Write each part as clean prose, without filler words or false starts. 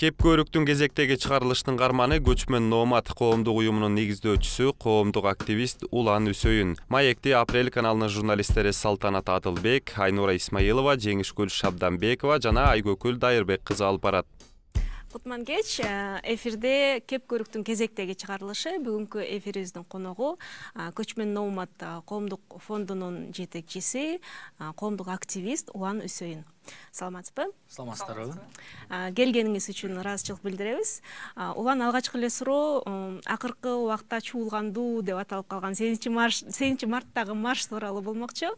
Кеп көрүктүн кезектеги чыгарылыштын карманы көчмөн Номад коомдук уюмунун негиздөөчүсү, коомдук активист Улан Үсөйүн. Маекти Апрель каналынын журналисттери Салтанат Адылбек, Айнура Исмаилова, Жеңишгүл Шабданбекова жана Айгөкүл Дайырбек кызы алып барат. Кутман кеч, эфирде Кеп көрүктүн кезектеги чыгарылышы. Бүгүнкү эфирибиздин коногу Көчмөн Номад коомдук фондунун жетекчиси, коомдук активист Улан Үсөйүн. Саламатсызбы? Саламатсыздарбы? Келгениңиз үчүн ыраазычылык билдиребиз. Улан, алгачкы эле суроо, акыркы убакта чуулгандуу деп аталып калган 8 марттагы марш тууралуу болмокчу.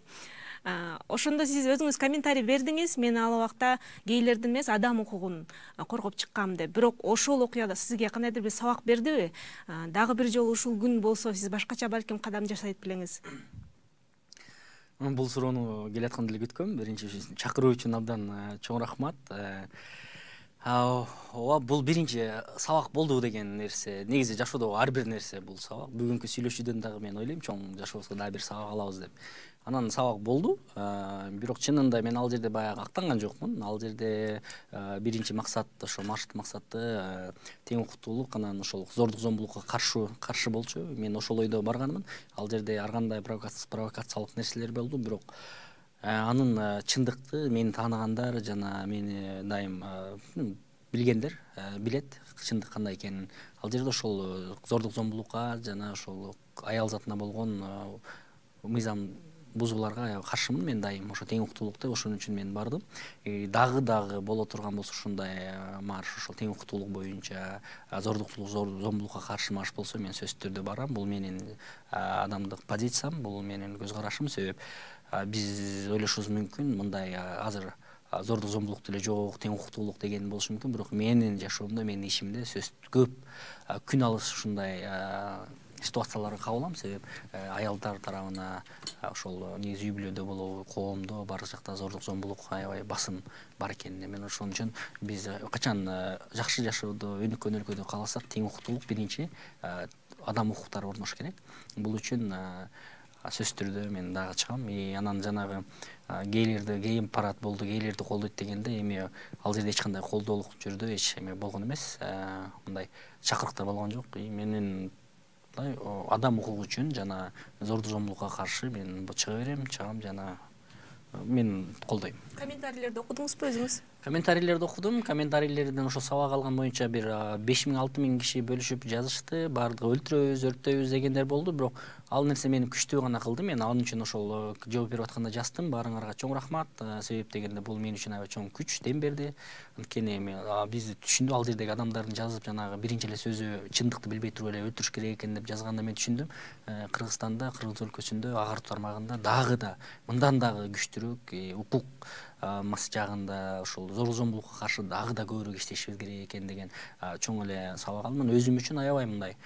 Ошондо сиз өзүңүз комментарий бердиңиз. Мен ал убакта гейлердин эмес, адам укугун коргоп чыккам деп. Бирок ошол окуяда сизге кандайдыр бир сабак бердиби? Дагы бир жолу ушул күн болсо, сиз башкача балким кадам жасайт белеңиз. Бул суроону келатканды эле күткөм. Биринчи чакыруу үчүн абдан чоң рахмат. Бул биринчи сабак болду деген нерсе. Негизи жашоодо ар бир нерсе бул сабак. Бүгүнкү сүйлөшүүдөн дагы мен ойлойм, чоң жашообузга дагы бир сабак алабыз деп. Анан сабак болду. Бирок чынында мен ал жерде баягы актанган жокмун. Ал жерде биринчи максат ошо маршрут максаты тең укуктуулук, анан ошол зордук зомбулукка каршы болчу. Мен ошол ойдо барганмын. Ал жерде ар кандай провокациялык нерселер болду, бирок анын чындыкты мени тааныгандар жана мени дайым билгендер билет чындык кандай экенин. Ал жерде ошол зордук зомбулукка жана ошол аял затына болгон мыйзам бузууларга каршымын мен дайым. Ошо тең укуктуулукта, ошон үчүн мен бардым. Дагы боло турган болсо ушундай марш, ошол тең укуктуулук боюнча, зомбулукка каршы марш болсо, мен сөзсүз түрдө барам. Бул менин адамдык позициям, бул менин көз карашым. Себеп биз ойлошубуз мүмкүн, мындай азыр зордук зомбулук деле жок, тең укуктуулук деген болушу мүмкүн, бирок менин жашоомдо, менин ишимде сөзсүз көп күн алыс ушундай ситуацияларга кабылам. Себеп аялдар тарабына ошол негизи үй бүлөдө болобу, коомдо баардык жакта зордук зомбулук, аябай басым бар экенин мен ошон үчүн биз качан жакшы жашоодо, өнүккөн өлкөдө кааласак, тең укуктуулук биринчи адам укуктары орнош керек. Бул үчүн сөзсүз түрдө мен дагы чыгам. Анан жанагы гей парад болду, гейлерди колдойт дегенде, эми ал жерде эч кандай колдоолук жүрдө эч эме болгон эмес. Мындай чакырыктар болгон жок. Менин адам укугу үчүн жана зордук зомбулукка каршы мен чыга берем, чыгам жана мен колдойм. Комментарийлерди окудуңузбу өзүңүз? Комментарийлерди окудум. Комментарийлерден ошо сабак алган боюнча бир 5000–6000 киши бөлүшүп жазышты. Бардыгы өлтүрөбүз, өрттөйбүз дегендер болду. Бирок ал нерсе мени күчтүү гана кылды. Мен ал үчүн ошол жооп берип атканда жаздым. Баарыңарга чоң рахмат. Себеп дегенде бул мен үчүн аябай чоң күч, дем берди. Анткени биз түшүндү, ал жердеги адамдардын жазып жанагы биринчи эле сөзү чындыкты билбей туруп эле өлтүрүш керек экен деп жазганда мен түшүндүм. Кыргызстанда, Кыргыз өлкөсүндө, ага тармагында дагы да мындан дагы күчтүүрөөк укук жагында ошол зордук зомбулукка каршы дагы да көбүрөөк иштешибиз керек экен деген чоң эле сабак алдым. Өзүм үчүн аябай мындай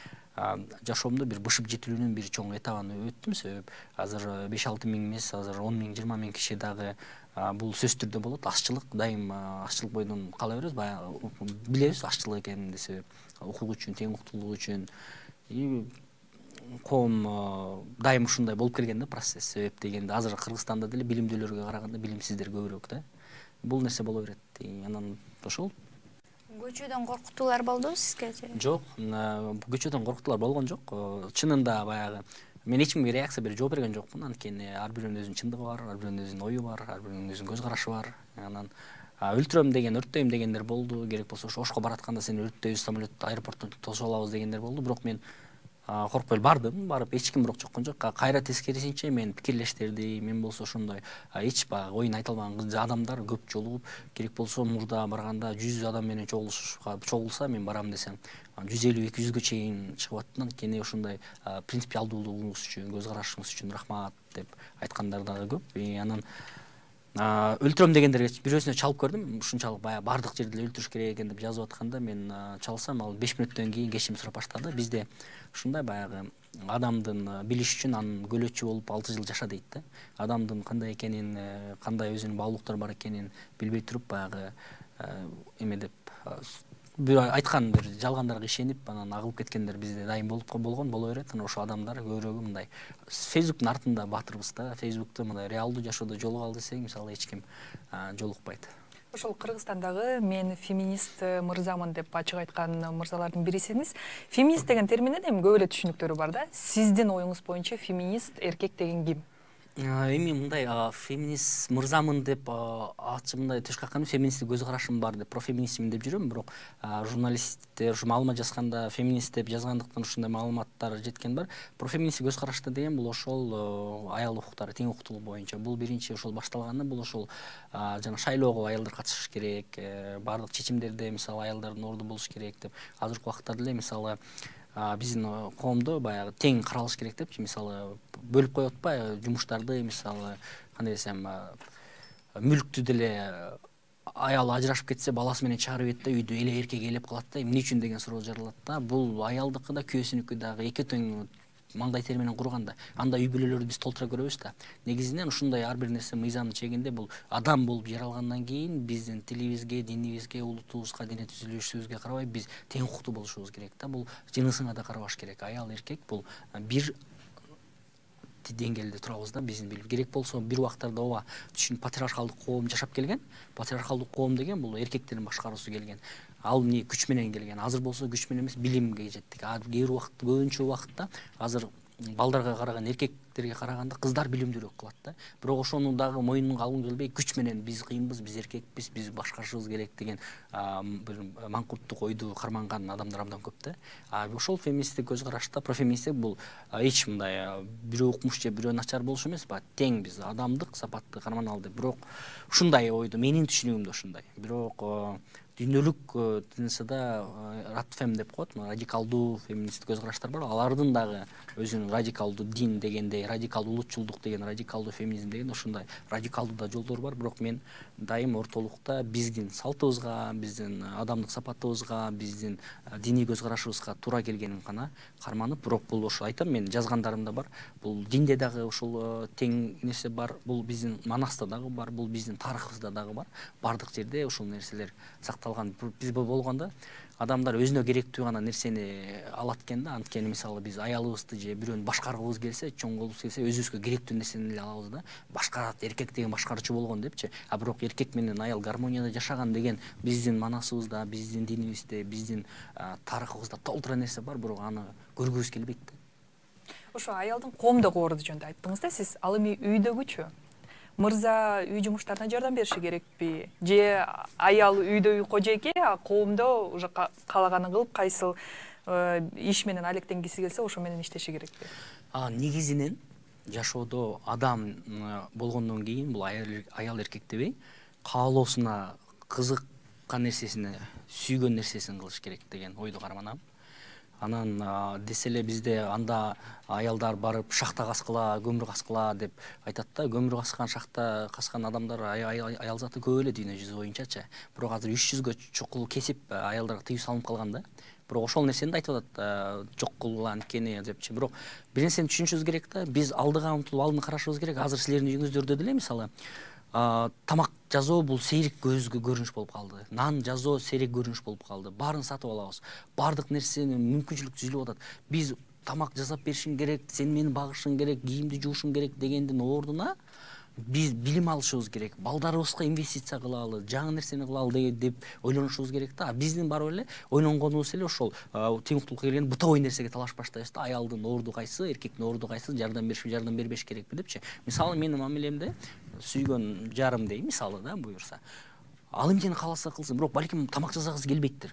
жашоомдо бир бышып жетилүүнүн бир чоң этабын өттүм. Себеп азыр 5–6 миң эмес, азыр 10 миң, 20 миң киши дагы бул сөзсүз түрдө болот. Ашчылык, дайым ашчылык бойдон кала беребиз, баягы билебиз ашчылык экенин. Себеп укук үчүн, тең укуктуулук үчүн коом дайым ушундай болуп келген да процесс. Себеп дегенде азыр Кыргызстанда деле билимдүүлөргө караганда билимсиздер көбүрөөк да. Бул нерсе боло берет. Анан ошол. Көчөдөн коркутуулар болдубу сизге? Жок, көчөдөн коркутуулар болгон жок. Чынында баягы мен эч кимге реакция берип жооп берген жокмун. Анткени ар бирөөнүн өзүнүн чындыгы бар, ар бирөөнүн өзүнүн ою бар, ар бирөөнүн өзүнүн көз карашы бар. Анан өлтүрөм деген, өрттөйм дегендер болду. Керек болсо Ошко баратканда сени өрттөйбүз, самолет аэропорттон тосуп алабыз дегендер болду. Бирок мен коркпой бардым, барып эч ким бирок жоккон жок. Кайра тескерисинче мен пикирлештерди, мен болсо ошондой эч баягы оюн айта албаган адамдар көп жолугуп, керек болсо мурда барганда 100 адам менен чогулса мен барам десем 150–200гө чейин чыгып аттым. Анткени ошондой принципиалдуулугуңуз үчүн, көз карашыңыз үчүн рахмат деп айткандар дагы көп. Анан өлтүрөм дегендерге бирөөсүнө чалып көрдүм. Ушунчалык баягы баардык жерде эле өлтүрүш керек экен деп жазып атканда мен чалсам, ал 5 мүнөттөн кийин кечирим сурап баштады. Бизде ушундай баягы адамдын билиш үчүн анын көлөчү болуп 6 жыл жаша дейт да. Адамдын кандай экенин, кандай өзүнүн баалуулуктары бар экенин билбей туруп баягы эме деп бир айткан бир жалгандарга ишенип анан агылып кеткендер бизде дайым болгон боло берет. Анан ошол адамдар көбүрөөгү мындай Фейсбуктун артында батырбыз да. Фейсбукта мындай реалдуу жашоодо жолугалы десең, мисалы эч ким жолукпайт. Ошол Кыргызстандагы мен феминист мырзамын деп ачык айткан мырзалардын бирисиңиз. Феминист деген терминдин эми көп эле түшүнүктөрү бар да. Сиздин оюңуз боюнча феминист эркек деген ким? Эми мындай феминист мырзамын деп аты мындай тышкы каккан феминисттик көз карашым бар деп профеминистмин деп жүрөм, бирок журналисттер маалымат жазганда феминист деп жазгандыктан ушундай маалыматтар жеткен бар. Профеминисттик көз карашты деген бул ошол аял укуктары, тең укуктуулук боюнча. Бул биринчи ошол башталганда бул ошол жана шайлоого аялдар катышыш керек, баардык чечимдерде мисалы аялдардын орду болуш керек деп. Азыркы убакта деле мисалы биздин коомдо баягы тең каралыш керек депчи, мисалы бөлүп коюп атпайбы жумуштарды, мисалы кандай десем мүлктү деле аял ажырашып кетсе баласы менен чыгарып ийет да, үйдө эле эркек ээлеп калат да, эмне үчүн деген суроо жаралат да. Бул аялдыкы да күйөөсүнүкү дагы эки тең маңдай тери менен курганда анда үй бүлөлөрдү биз толтура көрөбүз да. Негизинен ушундай ар бир нерсе мыйзамдын чегинде бул адам болуп жаралгандан кийин биздин тилибизге, динибизге, улутубузга, дене түзүлүшүбүзгө карабай биз тең укуктуу болушубуз керек да. Бул жынысыңа да карабаш керек. Аял эркек бул бир деңгээлде турабыз да, биздин билип. Керек болсо бир убактарда ооба түшүн патриархалдык коом жашап келген. Патриархалдык коом деген бул эркектердин башкаруусу келген. Ал эмне күч менен келген. Азыр болсо күч менен эмес, билимге жеттик. Кээ бир убакытта, көбүнчө убакытта азыр балдарга караган, эркектерге караганда кыздар билимдүүрөөк кылат да. Бирок ошону дагы мойнуна алгым келбей, күч менен биз кыйынбыз, биз эркекпиз, биз башкарышыбыз керек деген бир маңкурттук ойду карманган адамдар абдан көп да. Ошол феминисттик көз карашта профеминисттик бул эч мындай бирөө укмуш же бирөө начар болуш эмес, тең биз адамдык сапатты карманалы деп. Бирок ушундай ойду менин түшүнүгүмдө ушундай. Бирок дүйнөлүк тынысыда радфем деп коет, радикалдуу феминисттик көз караштар бар. Алардын дагы өзүнүн радикалдуу дин дегендей, радикалдуу улутчулдук деген, радикалдуу феминизм деген ушундай радикалдуу да жолдор бар. Бирок мен дайым ортолукта биздин салтыбызга, биздин адамдык сапатыбызга, биздин диний көз карашыбызга туура келгенин гана карманып, бирок бул ошо айтам, мен жазгандарымда бар. Бул динде дагы ошол тең нерсе бар, бул биздин манаста дагы бар, бул биздин тарыхыбызда дагы бар. Бардык жерде ошол нерселер сакталган. Биз болгондо адамдар өзүнө керектүү гана нерсени алат экен да. Анткени мисалы биз аялыбызды же бирөөнү башкаргыбыз келсе, чоң кылгыбыз келсе, өзүбүзгө керектүү нерсени эле алабыз да. Башкарат, эркек деген башкаруучу болгон депчи. Бирок эркек менен аял гармонияда жашаган деген биздин манасыбызда, биздин динибизде, биздин тарыхыбызда толтура нерсе бар, бирок аны көргүбүз келбейт да. Ошо аялдын коомдогу орду жөнүндө айттыңыз да сиз. Ал эми үйдөгүчү? Мырза үй жумуштарына жардам бериши керекпи? Же аял үйдө үй кожойке, коомдо уже каалаганын кылып, кайсыл иш менен алектенгиси келсе, ошо менен иштеши керекпи? Негизинен жашоодо адам болгондон кийин бул аял эркек дебей, каалоосуна, кызыккан нерсесине, сүйгөн нерсесин кылыш керек деген ойду карманам. Анан десе эле бизде анда аялдар барып шахта каскыла, көмүр каскыла деп айтат да. Көмүр каскан, шахта каскан адамдар аял заты көп эле дүйнө жүзү боюнчачы. Бирок азыр 300гө чукул кесип аялдарга тыюу салынып калган да. Бирок ошол нерсени да айтып атат, жок кылгыла анткени депчи. Бирок бир нерсени түшүнүшүбүз керек да. Биз алдыга умтулуп алдын карашыбыз керек. Азыр силердин үйүңүздөрдө деле мисалы тамак жазуу бул сейрек көзгө көрүнүш болуп калды. Нан жазуу сейрек көрүнүш болуп калды. Баарын сатып алабыз. Баардык нерсени мүмкүнчүлүк түзүлүп атат. Биз тамак жасап беришиң керек, сен мени багышың керек, кийимди жуушуң керек дегендин ордуна биз билим алышыбыз керек. Балдарыбызга инвестиция кылалы, жаңы нерсени кылалы деп ойлонушубуз керек да. Биздин барып эле ойлонгонубуз эле ошол тең укуктуулукка келген бытовой нерсеге талаш баштайбыз да. Аялдын орду кайсы, эркектин орду кайсы, жардам беришпи, жардам бербеш керекпи депчи. Мисалы менин мамилемде сүйгөн жарым дей мисалы да буюрса. Ал эмнени кааласа кылсын, бирок балким тамак жасагысы келбейттир.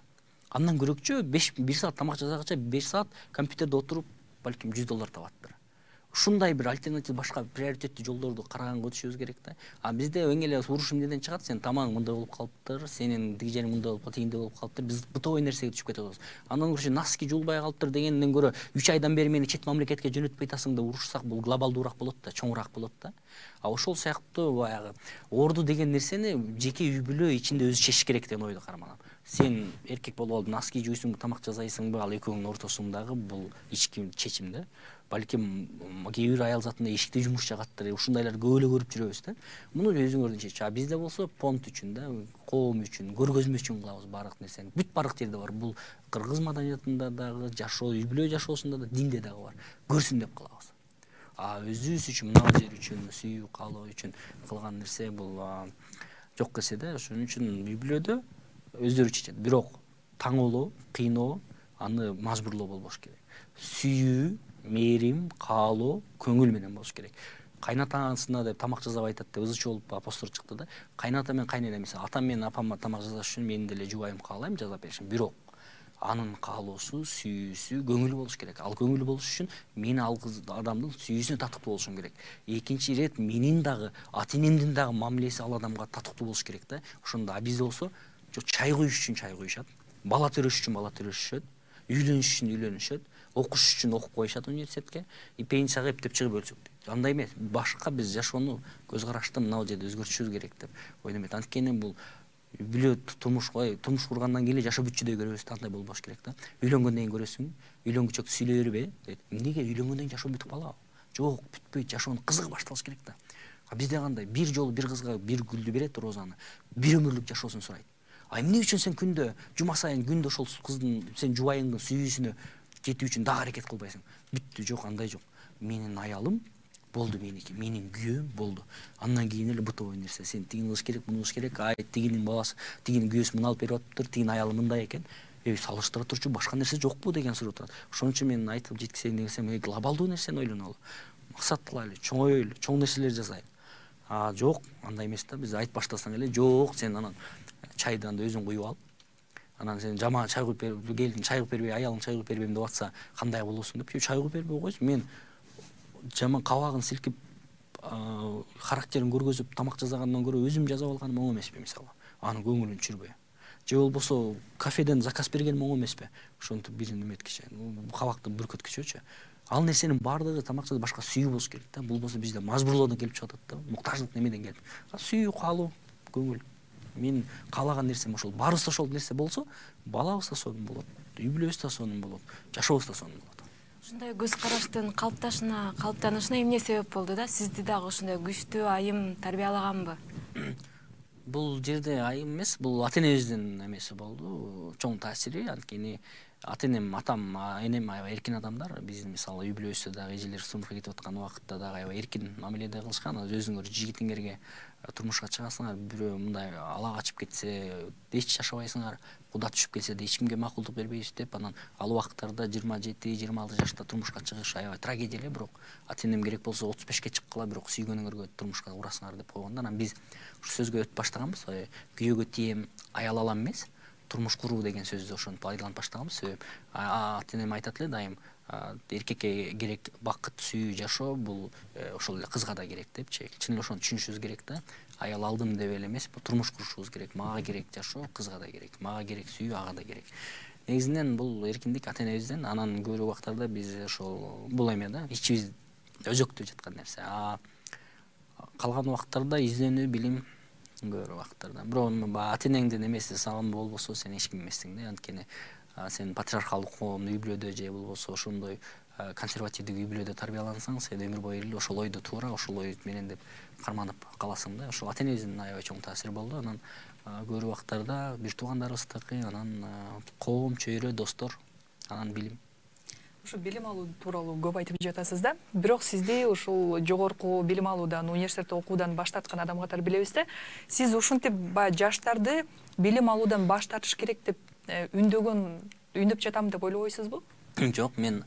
Андан көрөкчү 1 саат тамак жасаганча 5 саат компьютерде отуруп балким $100 табаттыр. Ушундай бир альтернатив, башка приоритеттүү жолдорду караганга өтүшүбүз керек да. Бизде эң эле уруш эмнеден чыгат? Сен тамагың мындай болуп калыптыр, сенин тиги жериң мындай болуп калды, тигиндей болуп калыптыр. Биз бытовой нерсеге түшүп кетип атабыз. Андан көрө носки жуулбай калыптыр дегенден көрө 3 айдан бери мени чет мамлекетке жөнөтпөй атасың деп урушсак, бул глобалдуураак болот да, чоңураак болот да. Ошол сыяктуу баягы орду деген нерсени жеке үй бүлө ичинде өзү чечиш керек деген ойду карманам. Сен эркек болуп алып носки жуйсуңбу, тамак жасайсыңбы, ал экөөңүн ортосундагы бул ички чечим да. Балким кээ бир аял затында эшикте жумуш жагаттыр, ушундайлар көп эле көрүп жүрөбүз да. Муну өзүңөрдүн чечиши. Бизде болсо понт үчүн да, коом үчүн, көргөзмө үчүн кылабыз баардык нерсени. Бүт баардык жерде бар. Бул кыргыз маданиятында дагы, жашоо, үй бүлө жашоосунда да, динде дагы бар. Көрсүн деп кылабыз. Өзүбүз үчүн, мына жер үчүн, сүйүү, каалоо үчүн кылган нерсе бул жок келсе да, ошон үчүн үй бүлөдө өздөрү чечет. Бирок таңоолоо, кыйноо, аны мажбурлоо болбош керек. Сүйүү, мээрим, каалоо, көңүл менен болуш керек. Кайнатасына деп тамак жасап айтат деп ызычы болуп постор чыкты да. Кайната мен кайнене мисалы атам менен апамга тамак жасаш үчүн мен деле жубайым каалайм жасап беришим. Бирок анын каалоосу, сүйүүсү, көңүлү болуш керек. Ал көңүлү болуш үчүн мен ал адамдын сүйүүсүнө татыктуу болушум керек. Экинчи ирет менин дагы ата-энемдин дагы мамилеси ал адамга татыктуу болуш керек да. Ошондо бизде болсо чай куюш үчүн чай куюшат, бала төрөш үчүн бала төрөшүшөт, үйлөнүш үчүн үйлөнүшөт, окуш үчүн окуп коюшат университетке, пенсияга эптеп чыгып өлсөк дейт. Андай эмес, башка биз жашоону көз карашты мына жерде өзгөртүшүбүз керек деп ойлойм. Анткени бул үй бүлө турмуш кургандан кийин жашоо бүтчүдөй көрөбүз да, андай болбош керек да. Үйлөнгөндөн кийин көрөсүң, үйлөнгүчөктү сүйлөй бербе дейт. Эмнеге үйлөнгөндөн кийин жашоо бүтүп калабы? Жок, бүтпөйт, жашоонун кызыгы башталыш керек да. Бизде кандай? Бир жолу бир кызга бир гүлдү берет, розаны, бир өмүрлүк жашоосун сурайт. Эмне үчүн сен күндө, жума сайын күндө ошол кыздын, сен жубайыңдын сүйүүсүнө жетүү үчүн дагы аракет кылбайсың? Бүттү, жок, андай жок. Менин аялым болду меники, менин күйөөм болду. Андан кийин эле бытовой нерсе. Сен тигини кылыш керек, муну кылыш керек. Тигинин баласы, тигинин күйөөсү муну алып берип атыптыр, тигинин аялы мындай экен. Салыштыра турчу башка нерсе жокпу деген суроо турат. Ошон үчүн мен айтып жеткизейин десем, глобалдуу нерсени ойлонолу. Максат кылайлы, чоңойлу, чоң нерселер жасайлы. Жок, андай эмес да. Биз айтып баштасаң эле, жок, сен анан чайды анда өзүң куюп ал. Анан сен жаман чай куюп берип, келин чай куюп бербей, аялың чай куюп бербейм деп атса, кандай болосуң деп, чай куюп бербей койсун. Мен жаман кабагын силкип, характерин көргөзүп тамак жасагандан көрө өзүм жасап алганым оң эмеспи мисалы. Анын көңүлүн түшүрбөй. Же болбосо кафеден заказ бергеним оң эмеспи? Ошентип бир неметкиче, кабакты бүркөткүчөчү. Ал нерсенин баардыгы тамак жасап башка сүйүү болуш керек да. Болбосо бизде мажбурлоодон келип чыгып атат да. Муктаждык немеден келип. Сүйүү, каалоо, көңүл. Мен каалаган нерсем ошол. Баарыбыз ошол нерсе болсо, балабыз да сонун болот, үй бүлөбүз да сонун болот, жашообуз да сонун болот. Ушундай көз караштын калыптанышына эмне себеп болду да? Сизди дагы ушундай күчтүү айым тарбиялаганбы? Бул жерде айым эмес, бул ата-энебиздин эмеси болду, чоң таасири. Анткени ата-энем, атам, энем аябай эркин адамдар. Биздин мисалы үй бүлөбүздө дагы эжелер турмушка кетип аткан убакытта дагы аябай эркин мамиледе кылышкан. Өзүңөр жигитиңерге турмушка чыгасыңар, бирөө мындай ала качып кетсе, эч жашабайсыңар. Куда түшүп келсе да эч кимге макулдук бербейбиз деп, анан ал убактарда 27-26 жашта турмушка чыгыш аябай трагедия эле. Бирок ата-энем керек болсо 35ке чыккыла, бирок сүйгөнүңөргө турмушка курасыңар деп койгон да. Анан биз ушу сөзгө өтүп баштаганбыз. Күйөөгө тием, аял алам эмес, турмуш куруу деген сөздү ошентип пайдаланып баштаганбыз. Себеп ата-энем айтат эле дайым, эркекке керек бакыт, сүйүү, жашоо, бул ошол эле кызга да керек депчи. Чын эле ошону түшүнүшүбүз керек да. Аял алдым деп эле эмес, турмуш курушубуз керек. Мага керек жашоо, кызга да керек. Мага керек сүйүү, ага да керек. Негизинен бул эркиндик ата-энебизден. Анан көп убактарда биз ошол бул эме да, ичибиз өзөктө жаткан нерсе. Калган убактарда изденүү, билим көп убактарда. Бирок ата-энеңдин эмеси сагым болбосо сен эч ким эмессиң да. Анткени сен патриархалдык коомдун үй бүлөдө же болбосо ошондой консервативдик үй бүлөдө тарбиялансаң, сен өмүр бою эле ошол ойдо туура, ошол ой менен деп карманып каласың да. Ошол ата-энебиздин аябай чоң таасири болду. Анан көп убактарда бир туугандарыбыздыкы, анан коом, чөйрө, достор, анан билим. Ушу билим алуу тууралуу көп айтып жатасыз да. Бирок сизди ушул жогорку билим алуудан, университетте окуудан баш тарткан адам катары билебиз да. Сиз ушинтип баягы жаштарды билим алуудан баш тартыш керек деп үндөп жатам деп ойлобойсузбу? Жок, мен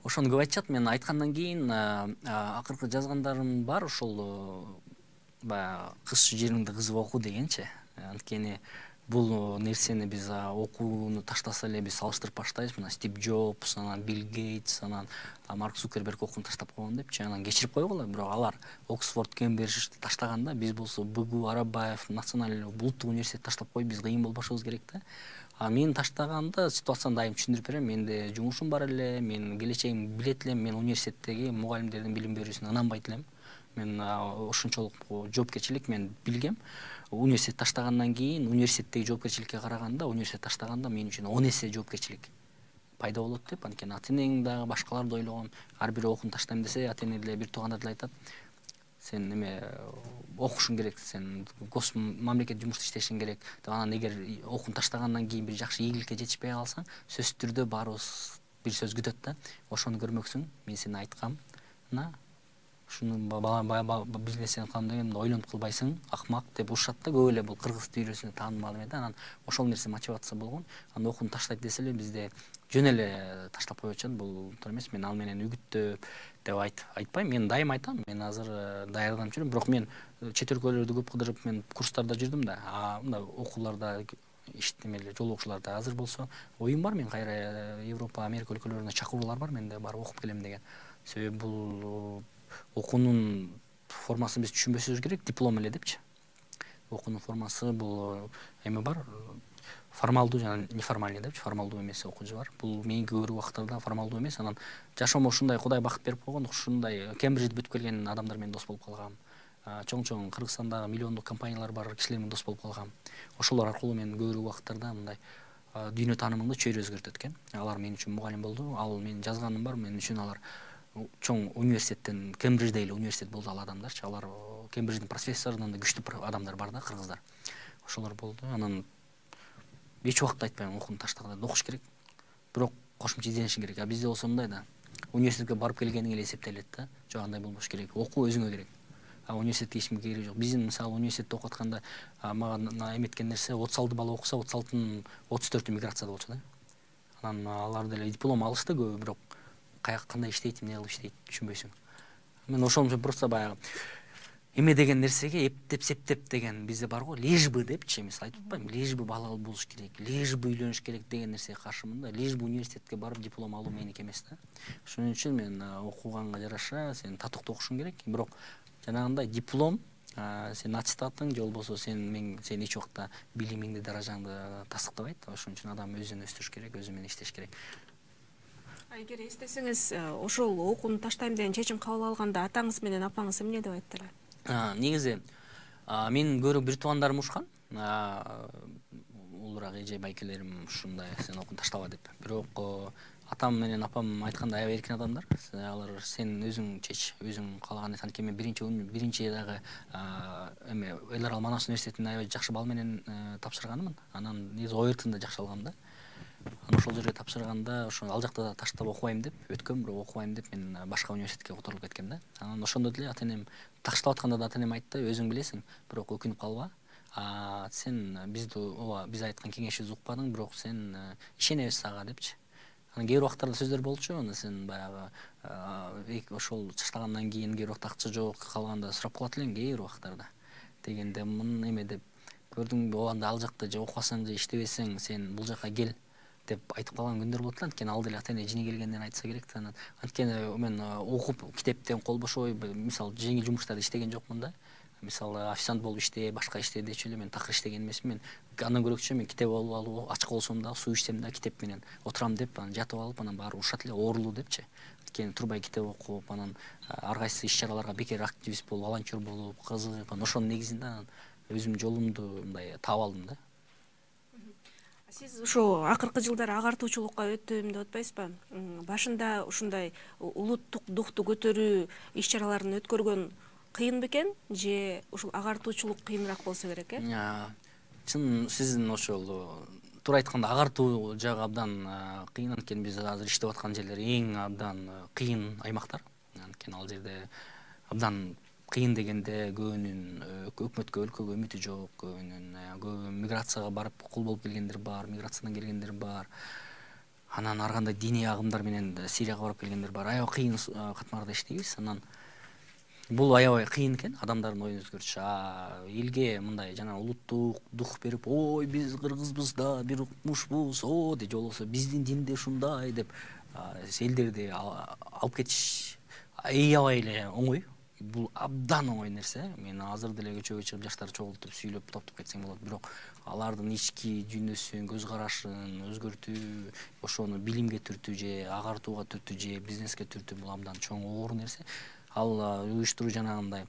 ошону көп айтышат. Мен айткандан кийин акыркы жазгандарым бар, ошол баягы кыз жериңди кызып оку дегенчи. Анткени бул нерсени биз окууну таштаса эле биз салыштырып баштайбыз. Мына Стив Джобс, анан Билл Гейтс, анан Марк Цукерберг окууну таштап койгон депчи. Анан кечирип койгула, бирок алар Оксфорд, Кембриджди таштаганда биз болсо БГУ, Арабаев, Национальный улуттук университет таштап коюп, биз кыйын болбошубуз керек да. Мен таштаганда ситуацияны дайым түшүндүрүп берем. Менде жумушум бар эле, мен келечегимди билет элем, мен университеттеги мугалимдердин билим берүүсүнө ынанбайт элем. Мен ошончолук жоопкерчилик мен билгем. Университет таштагандан кийин университеттеги жоопкерчиликке караганда, университет таштаганда мен үчүн 10 эсе жоопкерчилик пайда болот деп. Анткени ата-энең дагы башкаларды ойлогом. Ар бир окууну таштайм десе, ата-эне деле бир туугандар деле айтат. Сен неме окушуң керек, сен мамлекет жумушта иштешиң керек. Анан эгер окууну таштагандан кийин бир жакшы ийгиликке жетишпей калсаң, сөзсүз түрдө баарыбыз бир сөз күтөт да. Ошону көрмөксүң. Мен сени айткам. ушуну бизнесин кылам дегенде ойлонуп кылбайсың, акмак деп урушат да, көп эле бул кыргыз дүйрөсүндө таанымал эме да. Анан ошол нерсе мотивация болгон. Анан окууну таштайт десе эле бизде жөн эле таштап коюп атышат. Бул туура эмес. Мен ал менен үгүттөп деп айтпайм. Мен дайым айтам. Мен азыр даярданып жүрөм, бирок мен чет өлкөлөрдү көп кыдырып, мен курстарда жүрдүм да. Мындай окууларда, иштемелер, жолугушууларда азыр болсо оюм бар. Мен кайра Европа, Америка өлкөлөрүнө чакыруулар бар менде, барып окуп келем деген. Себеби бул окуунун формасын биз түшүнбөсүбүз керек, диплом эле депчи. Окуунун формасы бул эме бар, формалдуу жана неформальный депчи. Формалдуу эмес окуучу бар. Бул меники көбүрөөк убактарда формалдуу эмес. Анан жашоомо ушундай Кудай бакыт берип койгон, ушундай Кембриджди бүтүп келген адамдар менен дос болуп калгам. Чоң Кыргызстандагы миллиондук компаниялар бар, кишилер менен дос болуп калгам. Ошолор аркылуу мен көбүрөөк убактарда мындай дүйнө таанымымды чөйрө өзгөртөт экен. Алар мен үчүн мугалим болду. Ал менин жазганым бар, мен үчүн алар чоң университеттен, Кембриджде эле университет болду ал адамдарчы. Алар Кембридждин профессорунан да күчтүү адамдар бар да, кыргыздар. Ошолор болду. Анан эч убакта айтпайм окууну таштаганда окуш керек. Бирок кошумча изденишиң керек. Бизде болсо мындай да. Университетке барып келгениң эле эсептелет да. Жок, андай болбош керек. Окуу өзүңө керек. Университетке эчкимге кереги жок. Биздин мисалы университетте окуп атканда мага эметкен нерсе 36 бала окуса, 36-тын 34-ü миграцияда болчу да. Анан алар деле диплом алышты көбү, бирок кандай иштейт, эмне кылып иштейт түшүнбөйсүң. Мен ошол үчүн просто баягы эме деген нерсеге эптеп септеп деген бизде бар го, лишь бы депчи, мисалы айтып атпайм, лишь бы балал болуш керек, лишь бы үйлөнүш керек деген нерсеге каршымын да. Лишь бы университетке барып диплом алуу меники эмес да. Ошон үчүн мен окуганга жараша сен татыктуу окушуң керек, бирок жанагындай диплом, сен аттестатың же болбосо сен эч убакта билимиңди, даражаңды тастыктабайт. Ошон үчүн адам өзүн өстүрүш керек, өзү менен иштеш керек. Эгер эстесеңиз, ошол окууну таштайм деген чечим кабыл алганда атаңыз менен апаңыз эмне деп айттылар? Негизи менин көбүрөөк бир туугандарым ушкан. Улураак эже байкелерим ушундай, сен окууну таштаба деп. Бирок атам менен апам айтканда аябай эркин адамдар. Алар сен өзүң чеч, өзүң каалаган нерсе. Анткени мен биринчи дагы эме Эл Арал Манас университетине аябай жакшы балл менен тапшырганмын. Анан негизи ОРТны да жакшы алгам да. Анан ошол жерге тапшырганда, ошо ал жакта да таштап окубайм деп өткөм, бирок окубайм деп мен башка университетке которулуп кеткем да. Анан ошондо деле ата-энем таштап атканда да ата-энем айтты, өзүң билесиң, бирок өкүнүп калба. Сен биз айткан кеңешибизди укпадың, бирок сен ишенебиз сага депчи. Анан кээ бир убактарда сөздөр болчу, аны сен баягы ошол таштагандан кийин кээ бир убакта акча жок калганда сурап калат элең кээ бир убактарда. Дегенде мун эме деп көрдүңбү, анда ал жакта же окубасаң же иштебесең, сен бул жака кел деп айтып калган күндөр болот эле. Анткени ал деле ата-эне жини келгенден айтса керек да. Анткени мен окуп китептен кол бошой, мисалы жеңил жумуштарды иштеген жокмун да. Мисалы официант болуп иште, башка иште дечү эле мен такыр иштеген эмесмин. Мен андан көрөкчү мен китеп алып, ачка болсом да, суу ичсем да китеп менен отурам деп, анан жатып алып, анан баары урушат эле, оорулуу депчи. Анткени турбай китеп окуп, анан ар кайсы иш-чараларга бекер активист болуп, волонтер болуп, кызыгып, анан ошонун негизинде анан өзүм жолумду мындай таап алдым да. Сиз ошо акыркы жылдары агартуучулукка өттүм деп атпайсызбы? Башында ушундай улуттук духту көтөрүү иш-чараларын өткөргөн кыйын бекен же ушул агартуучулук кыйыныраак болсо керек, Чын сиздин ошол туура айтканда агартуу жагы абдан кыйын. Анткени биз азыр иштеп аткан жерлер эң абдан кыйын аймактар. Анткени ал жерде абдан кыйын дегенде көбүнүн өкмөткө, өлкөгө үмүтү жок, көбүнүн миграцияга барып кул болуп келгендер бар, миграциядан келгендер бар. Анан ар кандай диний агымдар менен Сирияга барып келгендер бар. Аябай кыйын катмарда иштейбиз. Анан бул аябай кыйын экен адамдардын оюн өзгөртүш. Элге мындай жана улуттук дух берип, ой биз кыргызбыз да, бир укмушбуз, же болбосо биздин динде ушундай деп элдерди алып кетиш аябай эле оңой. Бул абдан оңой нерсе. Мен азыр деле көчөгө чыгып жаштарды чогултуп, сүйлөп, топтоп кетсең болот. Бирок алардын ички дүйнөсүн, көз карашын өзгөртүү, ошону билимге түртүү же агартууга түртүү же бизнеске түртүү бул абдан чоң оор нерсе. Ал уюштуруу жанагындай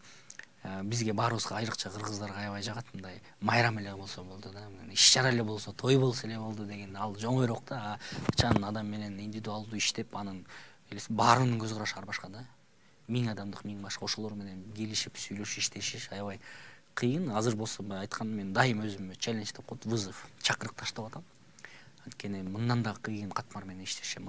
бизге баарыбызга айрыкча кыргыздарга аябай жагат. Мындай майрам эле болсо болду да. Иш-чара эле болсо, той болсо эле болду деген ал оңойрок да. Чан адам менен индивидуалдуу иштеп, анын баарынын көз карашы ар башка да. 1000 адамдык 1000 башка, ошолор менен келишип, сүйлөшүп, иштешиш аябай кыйын. Азыр болсо айткан мен дайым өзүмө челлендж деп коет, вызов, чакырык таштап атам. Анткени мындан да кыйын катмар менен иштешет,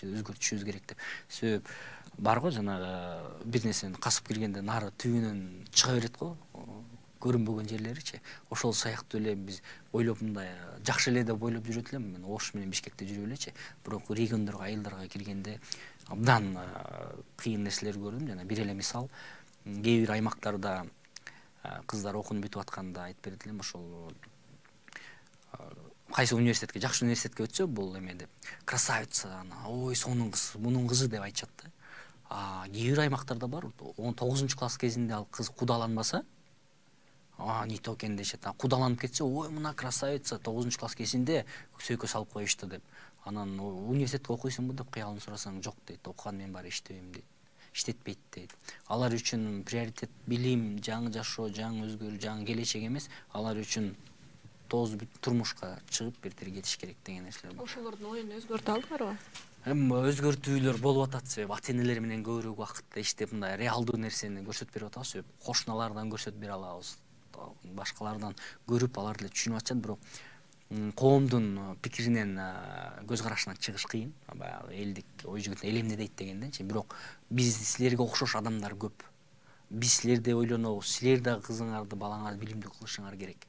өзгөртүшүбүз керек деп. Себеп бар го, жанагы бир нерсени касып киргенде нары түбүнөн чыга берет го, көрүнбөгөн жерлеричи. Ошол сыяктуу эле биз ойлоп мындай жакшы эле деп ойлоп жүрөт элем. Мен Ош менен Бишкекте жүрүп элечи, бирок региондорго, айылдарга киргенде абдан кыйын нерселер көрдүм. Жана бир эле мисал, кээ бир аймактарда кыздар окууну бүтүп атканда айтып берет элем, ошол кайсы университетке, жакшы университетке өтсө, бул эме деп, красавица, ой, сонун кыз, мунун кызы деп айтышат да. Кээ бир аймактарда бар, 9-класс кезинде ал кыз кудаланбаса, не то экен дешет. Кудаланып кетсе, ой, мына красавица 9-класс кезинде сөйкө салып коюшту деп. Анан университетке окуйсуңбу деп кыялын сурасаң, жок дейт, окуган мен баары иштебейм дейт. Иштетпейт дейт. Алар үчүн приоритет билим, жаңы жашоо, жаңы өзгөрүү, жаңы келечек эмес, алар үчүн турмушка чыгып бир кетиш керек деген нерселер бар. Ошолордун оюн өзгөртө алдыңарбы? Өзгөртүүлөр болуп атат, себеп ата-энелер менен көбүрөөк убакытта иштеп, мындай реалдуу нерсени көрсөтүп берип атабыз, себеп кошуналардан көрсөтүп бере алабыз, башкалардан көрүп алар деле түшүнүп атышат, бирок коомдун пикиринен, көз карашынан чыгыш кыйын. Баягы элдик ой жүгүнтү элемне дейт дегенденчи. Бирок биз силерге окшош адамдар көп. Биз силерди ойлонобуз. Силер да кызыңарды, балаңарды билимдүү кылышыңар керек.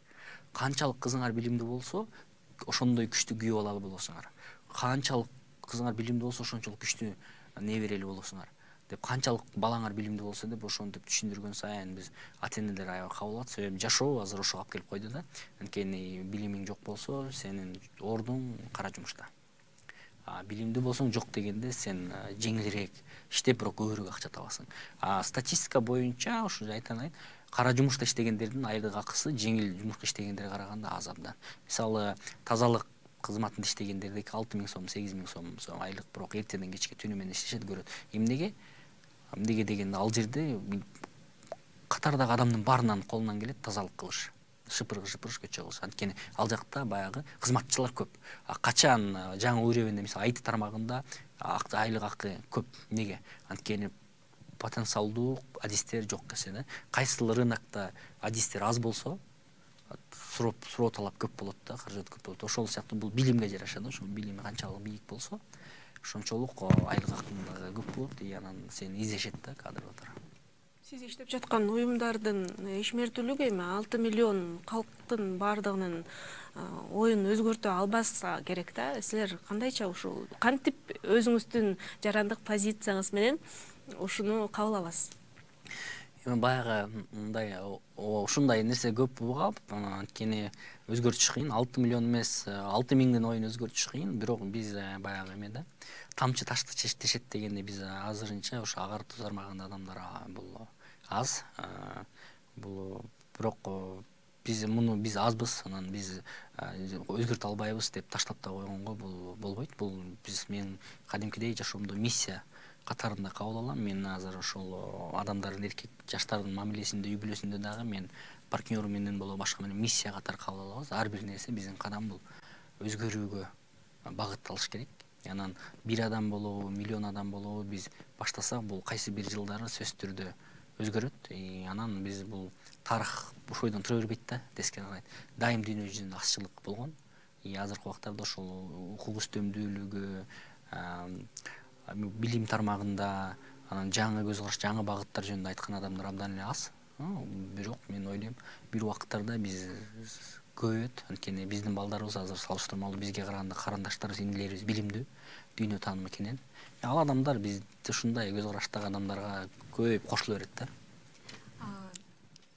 Канчалык кызыңар билимдүү болсо, ошондой күчтүү күйөө алалы болосуңар. Канчалык кызыңар билимдүү болсо, ошончолук күчтүү неберели болосуңар деп, канчалык балаңар билимдүү болсо деп ошентип түшүндүргөн сайын биз ата-энелер аябай кабыл алат. Себеп жашоо азыр ошого алып келип койду да. Анткени билимиң жок болсо, сенин ордуң кара жумушта. Билимдүү болсоң, жок дегенде сен жеңилирээк иштеп, бирок көбүрөөк акча табасың. Статистика боюнча ошо айтайын, кара жумушта иштегендердин айлык акысы жеңил жумушка иштегендерге караганда аз абдан. Мисалы, тазалык кызматында иштегендерде 6.000 сом, 8.000 сом айлык, бирок эртеден кечке түнү менен иштешет, көрөт. Эмнеге дегенде ал жерде катардагы адамдын баарынын колунан келет тазалык кылыш, шыпыргыш, көчө кылыш. Анткени ал жакта баягы кызматчылар көп. Качан жаңы уровенде, мисалы, IT тармагында айлык акы көп. Неге? Анткени потенциалдуу адистер жок эсе да. Кайсыл рынокто адистер аз болсо, суроо талап көп болот да, каражат көп болот. Ошол сыяктуу бул билимге жараша да. Ошол билими канчалык бийик болсо, ошончолук айлык акы көп болот, анан сени издешет да кадрлар. Сиз иштеп жаткан уюмдардын ишмердүүлүгү эми 6 миллион калктын баардыгынын оюн өзгөртө албаса керек да. Силер кандайча ушул кантип өзүңүздүн жарандык позицияңыз менен ушуну кабыл аласыз? Баягы мындай ушундай нерсе көп угап, анткени өзгөртүш кыйын. 6 миллион эмес, 6.000 оюн өзгөртүш кыйын, бирок биз баягы эмеде тамчы ташты чечтешет дегенде биз азырынча ошо агартуу тармагында адамдар бул аз. Бул бирок биз азбыз, анан биз өзгөртө албайбыз деп таштап да койгонго бул болбойт. Бул мен кадимкидей жашоомдо миссия катарында кабыл алам. Мен азыр ошол адамдардын, эркек жаштардын мамилесинде, үй бүлөсүндө дагы мен партнеру менен болобу башка менен миссия катары кабыл алабыз. Ар бир нерсе биздин кадам бул өзгөрүүгө багытталыш керек. Анан бир адам болобу, миллион адам болобу биз баштасак, бул кайсы бир жылдары сөзсүз түрдө өзгөрөт. Анан биз бул тарых ошойдон тура бербейт да, тескери карайт. Дайым дүйнө жүзүндө азчылык болгон. Азыркы убактарда ошол укук үстөмдүүлүгү, билим тармагында, анан жаңы көз караш, жаңы багыттар жөнүндө айткан адамдар абдан эле аз. Бирок мен ойлойм, бир убакыттарда биз көбөйөт. Анткени биздин балдарыбыз азыр салыштырмалуу бизге караганда карандаштарыбыз, инилерибиз билимдүү, дүйнө таанымы кенен. Ал адамдар биз ушундай көз караштагы адамдарга көбөйүп кошуло берет да.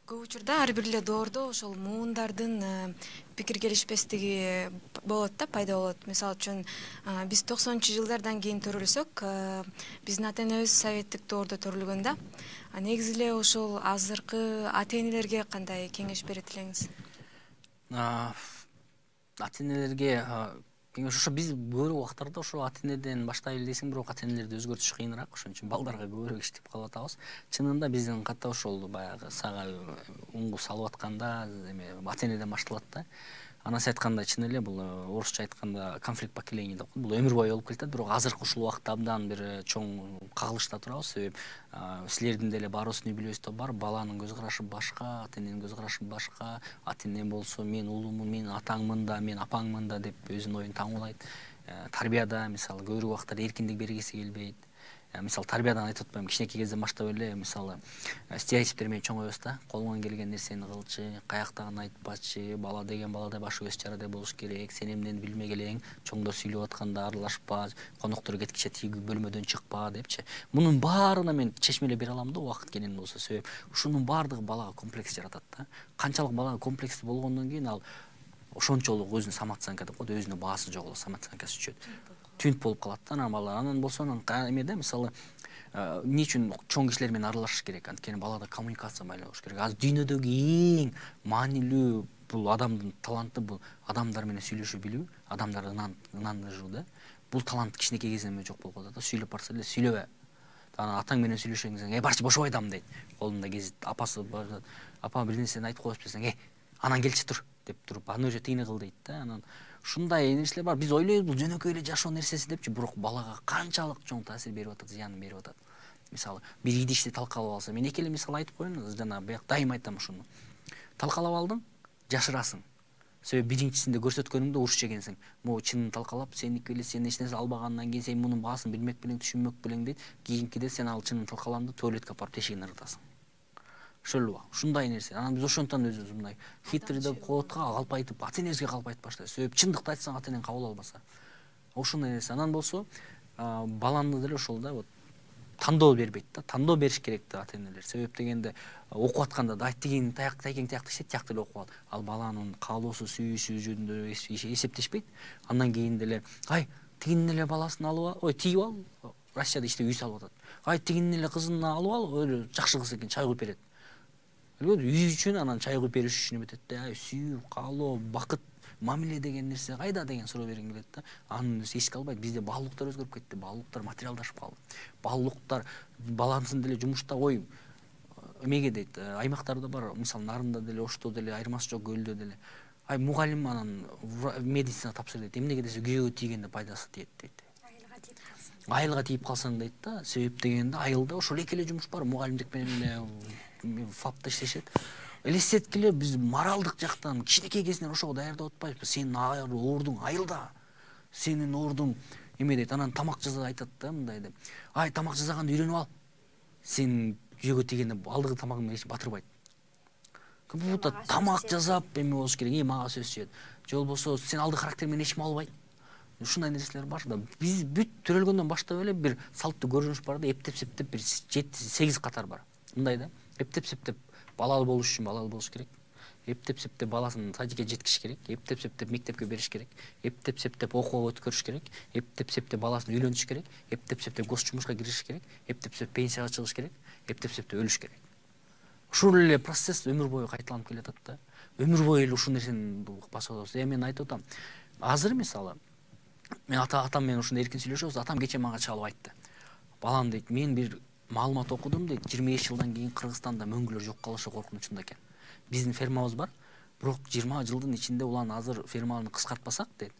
Көп учурда ар бир эле доордо ошол муундардын пикир келишпестиги болот да, пайда болот. Мисалы үчүн биз 90-жылдардан кийин төрөлсөк, биздин ата-энебиз советтик доордо төрөлгөн да. Негизи эле ошол азыркы ата-энелерге кандай кеңеш берет элеңиз? Ата-энелерге кеңеш ошо биз көбүрөөк убактарда ошо ата-энеден баштайлы десең, бирок ата-энелерди өзгөртүш кыйыныраак, ошон үчүн балдарга көбүрөөк иштеп калып атабыз. Чынында биздин ката ошол баягы сага уңгу салып атканда эме ата-энеден башталат да. Анан сиз айткандай чын эле бул орусча айтканда конфликт поколений деп коет. Бул өмүр бою болуп келатат, бирок азыркы ушул убакта абдан бир чоң кагылышта турабыз. Себеп силердин деле баарыбыздын үй бүлөбүздө бар, баланын көз карашы башка, ата эненин көз карашы башка. Ата эне болсо мен улумун, мен атаңмын да, мен апаңмын да деп өзүнүн оюн таңуулайт. Тарбияда мисалы көбүрөөк убактта эркиндик бергиси келбейт. Мисалы тарбиядан айтып атпайм, кичинекей кезден баштап эле мисалы стереотиптер менен чоңойбуз да. Колуңан келген нерсени кылчы, каяктагын айтпачы, бала деген баладай башы көз чарадай болуш керек, сен эмнени билмек элең, чоңдор сүйлөп атканда аралашпа, коноктор кеткиче тиги бөлмөдөн чыкпа депчи. Мунун баарына мен чечмелеп бере алам да убакыт келген болсо. Себеп ушунун баардыгы балага комплекс жаратат да. Канчалык балага комплекс болгондон кийин ал ошончолук өзүнүн самооценка деп коет, өзүнүн баасы жоголот, самооценкасы түшөт. Түнт болуп калат да анан бала. Анан болсо эмеде мисалы эмне үчүн чоң кишилер менен аралашыш керек? Анткени балада коммуникация майла болуш керек. Азыр дүйнөдөгү эң маанилүү бул адамдын таланты, бул адамдар менен сүйлөшө билүү, адамдар ынандыруу да. Бул талант кичинекей кезинен жок болуп калат да. Сүйлөп барса эле сүйлөбө. Анан атаң менен сүйлөшөң десең, барчы бошоп айтам дейт. Колунда гезит, апасы апа бир нерсени айтып коесуз десең, анан келчи тур деп туруп, аны өзү тигини кыл дейт да. Анан ушундай нерселер бар. Биз ойлойбуз бул жөнөкөй эле жашоо нерсеси депчи, бирок балага канчалык чоң таасир берип атат, зыянын берип атат. Мисалы, бир идишти талкалап алса, мен эки эле мисал айтып коеюн, жана бияк дайым айтам ушуну. Талкалап алдың, жашырасың. Себеп биринчисинде көрсөткөнүңдө уруш жегенсиң. Могу чынын талкалап, сеники эле сен эч нерсе албагандан кийин сен мунун баасын билмек белең, түшүнмөк белең дейт. Кийинкиде сен ал чынын талкаланды, туалетке апарып тешигин ыргытасың. Ошол ушундай нерсе. Анан биз ошондон өзүбүз мындай хитрый деп коотка калп айтып, ата энебизге калп айтып баштайбыз. Себеп чындыкты айтсаң ата энең кабыл албаса. Ошондой нерсе. Анан болсо баланы деле ошол да вот тандоо бербейт да. Тандоо бериш керек да ата энелер. Себеп дегенде окуп атканда да тигин тайкең тиякты иштейт, тиякты эле окуп алат. Ал баланын каалоосу, сүйүүсү жөнүндө эсептешпейт. Андан кийин деле тигинин эле баласын алып ал, тигип ал. Россияда иште үй салып атат. Тигинин эле кызын алып ал, өлө жакшы кыз экен, чай куюп берет. Үй үчүн анан чай куюп бериш үчүн эметет да. Сүйүү, каалоо, бакыт, мамиле деген нерсе кайда деген суроо бергим келет да. Аны эске албайт. Бизде баалуулуктар өзгөрүп кетти. Баалуулуктар материалдашып калды. Баалуулуктар балансын деле жумушта эмеге дейт, аймактарда бар, мисалы Нарында деле, Ошто деле, айырмасы жок, Көлдө деле. Мугалим анан медицина тапшыр дейт. Эмнеге десе күйөөгө тийгенде пайдасы тиет дейт. Айылга тийип калсаң дейт да. Себеп дегенде айылда ошол эки эле жумуш бар. Мугалимдик менен фапта иштешет. Элестеткиле биз моралдык жактан кичинекей кезинен ошого даярдап атпайбызбы? Сенин ордуң айылда. Сенин ордуң эме дейт. Анан тамак жаза айтат да мындай деп. Тамак жасаганды үйрөнүп ал. Сен күйөөгө тийгенде алдыгы тамагың менен эч батырбайт. Бул тамак жасап эме болуш керек, мага сөз түшөт. Же болбосо сен алды характер менен эч ким албайт. Ушундай нерселер бар да. Биз бүт төрөлгөндөн баштап эле бир салттуу көрүнүш бар да, эптеп-септеп бир 7-8 катар бар. Мындай да. Эптеп-септеп балалуу болуш үчүн балалуу болуш керек. Эптеп-септеп баласын садикке жеткизиш керек. Эптеп-септеп мектепке бериш керек. Эптеп-септеп окууга өткөрүш керек. Эптеп-септеп баласын үйлөнтүш керек. Эптеп-септеп гос жумушка киришиш керек. Эптеп-септеп пенсияга чыгыш керек. Эптеп-септеп өлүш керек. Ушул эле процесс өмүр бою кайталанып келатат да. Өмүр бою эле ушул нерсени басып атабыз. Мен айтып атам. Азыр мисалы мен атам менен ушундай эркин сүйлөшөбүз. Атам кече мага чалып айтты. Балам дейт, мен бир маалымат окудум дейт, 25 жылдан кийин Кыргызстанда мөңгүлөр жок калышы коркунучунда экен. Биздин фермабыз бар, бирок 20 жылдын ичинде улан азыр ферманы кыскартпасак дейт,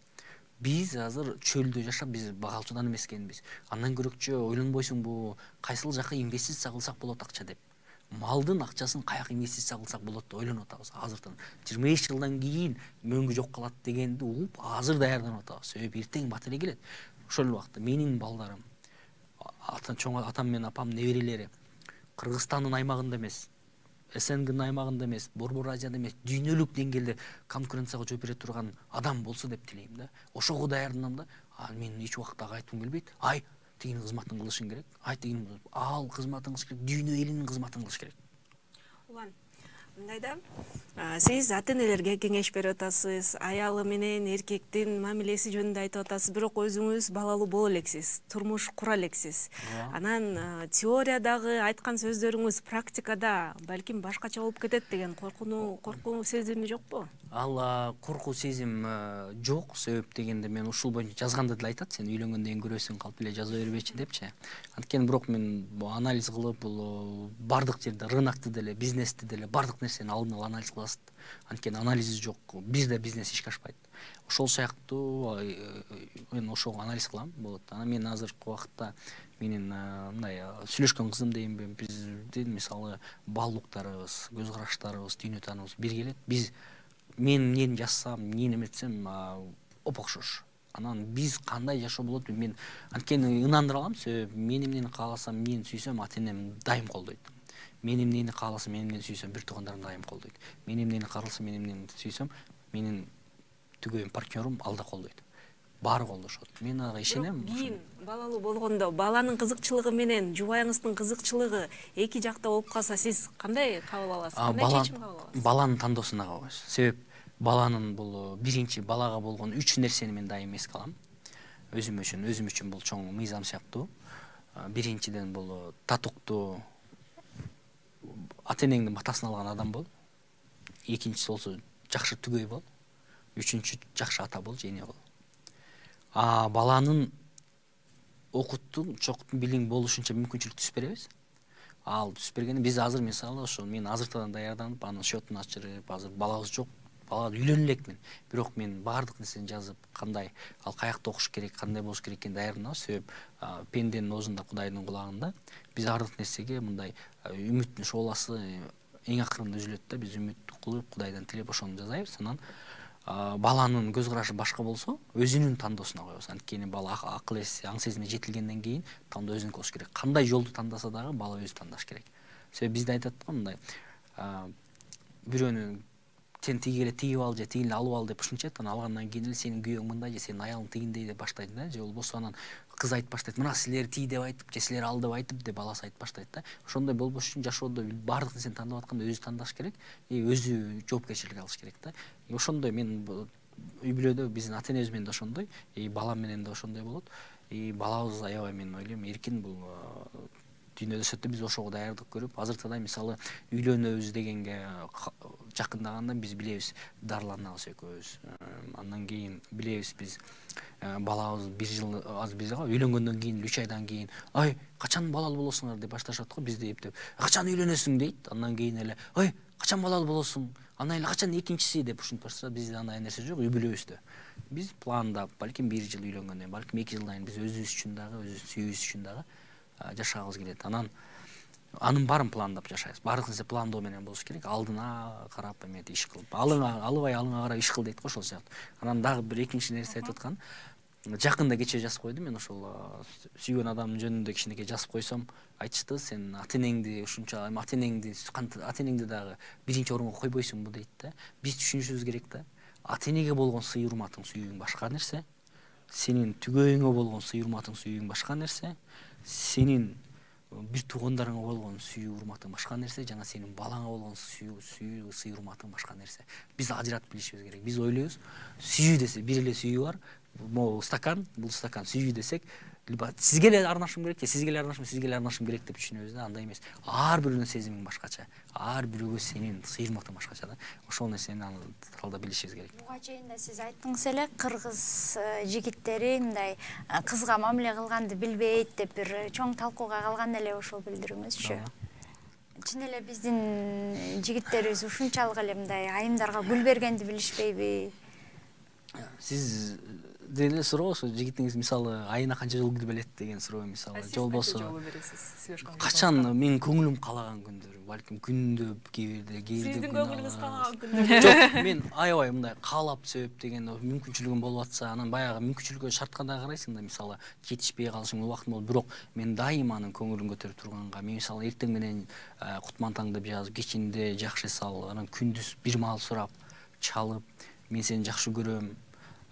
биз азыр чөлдө жашап, биз багалчудан эмес экенбиз. Андан көрөкчө ойлонбойсуңбу, кайсыл жака инвестиция кылсак болот акча деп. Малдын акчасын каяка инвестиция кылсак болот деп ойлонуп атабыз азырдан. 25 жылдан кийин мөңгү жок калат дегенди угуп, азыр даярданып атабыз. Себеп эртең бат эле келет. Ошол убакта менин балдарым, атам менен апам неберелери Кыргызстандын аймагында эмес, СНГнын аймагында эмес, Борбор Азияда эмес, дүйнөлүк деңгээлде конкуренцияга жооп бере турган адам болсо деп тилейм да. Ошого даярданам да. Мен эч убакта айткым келбейт. Тигинин кызматын кылышың керек. Тигинин ал кызматын кылыш керек, дүйнө элинин кызматын кылыш керек. Улан, мындай да, сиз ата энелерге кеңеш берип атасыз, аялы менен эркектин мамилеси жөнүндө айтып атасыз, бирок өзүңүз балалуу боло элексиз, турмуш кура элексиз. Анан теориядагы айткан сөздөрүңүз практикада балким башкача болуп кетет деген коркуу сезими жокпу? Ал коркуу сезим жок. Себеп дегенде мен ушул боюнча жазганда деле айтат, сен үйлөнгөндөн кийин көрөсүң, калп эле жаза бербечи депчи. Анткени бирок мен анализ кылып, бул бардык жерде рынокты деле, бизнести деле бардык нерсени алдын ала анализ кыласыз. Анткени анализи жок, бизде бизнес ишке ашпайт. Ошол сыяктуу мен ошого анализ кылам болот. Анан мен азыркы убакытта менин мындай сүйлөшкөн кызым дейинби, биздин мисалы баалуулуктарыбыз, көз караштарыбыз, дүйнө тааныбыз бир келет. Мен эмнени жазсам, эмнени эметсем окшош. Анан биз кандай жашоо болот, мен анткени ынандыра алам. Себеп мен эмнени кааласам, эмнени сүйсөм, ата-энем дайым колдойт. Мен эмнени кааласам, мен эмнени сүйсөм, бир туугандарым дайым колдойт. Мен эмнени кааласам, мен эмнени сүйсөм, менин түгөйүм, партнерым ал да колдойт. Баары колдошот. Мен ага ишенем. Кийин балалуу болгондо баланын кызыкчылыгы менен жубайыңыздын кызыкчылыгы эки жакта болуп калса, сиз кандай кабыл аласыз? Кандай чечим кабыл аласыз? Баланын тандоосуна кабылабыз. Себеп баланын бул биринчи балага болгон 3 нерсени мен дайым эске алам. Өзүм үчүн бул чоң мыйзам сыяктуу. Биринчиден бул татыктуу ата-энеңдин батасын алган адам бол. Экинчиси болсо жакшы түгөй бол. Үчүнчү жакшы ата бол, жене бол. Баланын окуттун, чоктун билим болушунча мүмкүнчүлүк түзүп беребиз. Ал түзүп бергенде биз азыр мисалы ошо мен азыртадан даярданып, анын счетун ачырып, азыр балабыз жок, бала үйлөнө элекмин. Бирок мен баардык нерсени жазып, кандай ал каякта окуш керек, кандай болуш керек экенин даярданабыз. Себеп пенденин оозунда Кудайдын кулагында. Биз баардык нерсеге мындай үмүттүн шооласы эң акырында үзүлөт да, биз үмүт кылып, Кудайдан тилеп ошону жазайбыз. Анан баланын көз карашы башка болсо, өзүнүн тандоосуна коебуз. Анткени бала акыл эси, аң сезими жетилгенден кийин тандоо өзүнүкү болуш керек. Кандай жолду тандаса дагы бала өзү тандаш керек. Себеп бизде айтат го мындай, бирөөнү сен тиги эле тигип ал же тиги эле алып ал деп ушунча айтат. Анан алгандан кийин эле сенин күйөөң мындай же сенин аялың тигиндей деп баштайт да. Же болбосо анан кыз айтып баштайт, мына силер тиги деп айтып, же силер ал деп айтып деп баласы айтып баштайт да. Ошондой болбош үчүн жашоодо баардык нерсени тандап атканда өзү тандаш керек, өзү жоопкерчилик алыш керек да. Ошондой мен үй бүлөдө биздин ата-энебиз менен да ошондой, балам менен да ошондой болот. Балабыз аябай мен ойлойм эркин бул дүйнөдө өсөт. Биз ошого даярдык көрүп, азыртада мисалы үйлөнөбүз дегенге жакындаганда биз билебиз дарыланабыз экөөбүз. Андан кийин билебиз биз балабыз 1 жыл аз бизде үйлөнгөндөн кийин 3 айдан кийин ай качан балалуу болосуңар деп башташат го. Бизде эптеп качан үйлөнөсүң дейт. Андан кийин эле ай качан балалуу болосуң, андан эле качан экинчиси деп ушинтип башташат. Бизде андай нерсе жок үй бүлөбүздө. Биз пландап, балким 1 жыл үйлөнгөндөн, балким 2 жылдан кийин биз өзүбүз үчүн дагы, өзүбүз сүйүүбүз үчүн дагы жашагыбыз келет. Анын баарын пландап жашайбыз. Баардык нерсе пландоо менен болуш керек. Алдына карап эметип иш кылып, алыбай алыңа карап иш кыл дейт го, ошол сыяктуу. Анан дагы бир экинчи нерсе айтып аткан. Жакында кечээ жазып койдум мен ошол сүйгөн адамдын жөнүндө кичинекей жазып койсом, айтышты, сен ата-энеңди ушунча ата-энеңди дагы биринчи орунга койбойсуңбу дейт да. Биз түшүнүшүбүз керек да. Ата-энеге болгон сый урматың, сүйүүң башка нерсе. Сенин түгөйүңө болгон сый урматың, сүйүүң башка нерсе. Сенин бир туугандарыңа болгон сүйүү урматың башка нерсе, жана сенин балаңа болгон сүйүү сый урматың башка нерсе. Биз ажыратып билишибиз керек. Биз ойлойбуз, сүйүү десе бир эле сүйүү бар. Могу стакан, бул стакан сүйүү десек, сизге эле арнашым керек, сизге эле арнашым керек деп түшүнөбүз да. Андай эмес. Ар бирөөнүн сезимиң башкача. Ар бирөөгө сенин сый урматың башкача да. Ошол нерсени талдап билишибиз керек. Буга чейин да сиз айттыңыз эле, кыргыз жигиттери мындай кызга мамиле кылганды билбейт деп бир чоң талкууга калган эле ошол билдирүүңүзчү. Чын эле биздин жигиттерибиз ушунчалык эле мындай айымдарга гүл бергенди билишпейби? Сиз деле суроо, ошо жигитиңиз мисалы айына канча жолу гүл берет деген суроо мисалы. Жолбосо качан менин көңүлүм каалаган күндөрү, балким күндө кээ бирде Сиздин көңүлүңүз каалаган күндөрү. Жок, мен аябай мындай каалап себеп деген мүмкүнчүлүгүм болуп атса, анан баягы мүмкүнчүлүккө шартка да карайсың да, мисалы жетишпей калышың убактым болот, бирок мен дайыма анын көңүлүн көтөрүп турганга, мен мисалы эртең менен кутман деп жазып, кечинде жакшы сал, анан күндүз бир маал сурап, чалып, мен сени жакшы көрөм,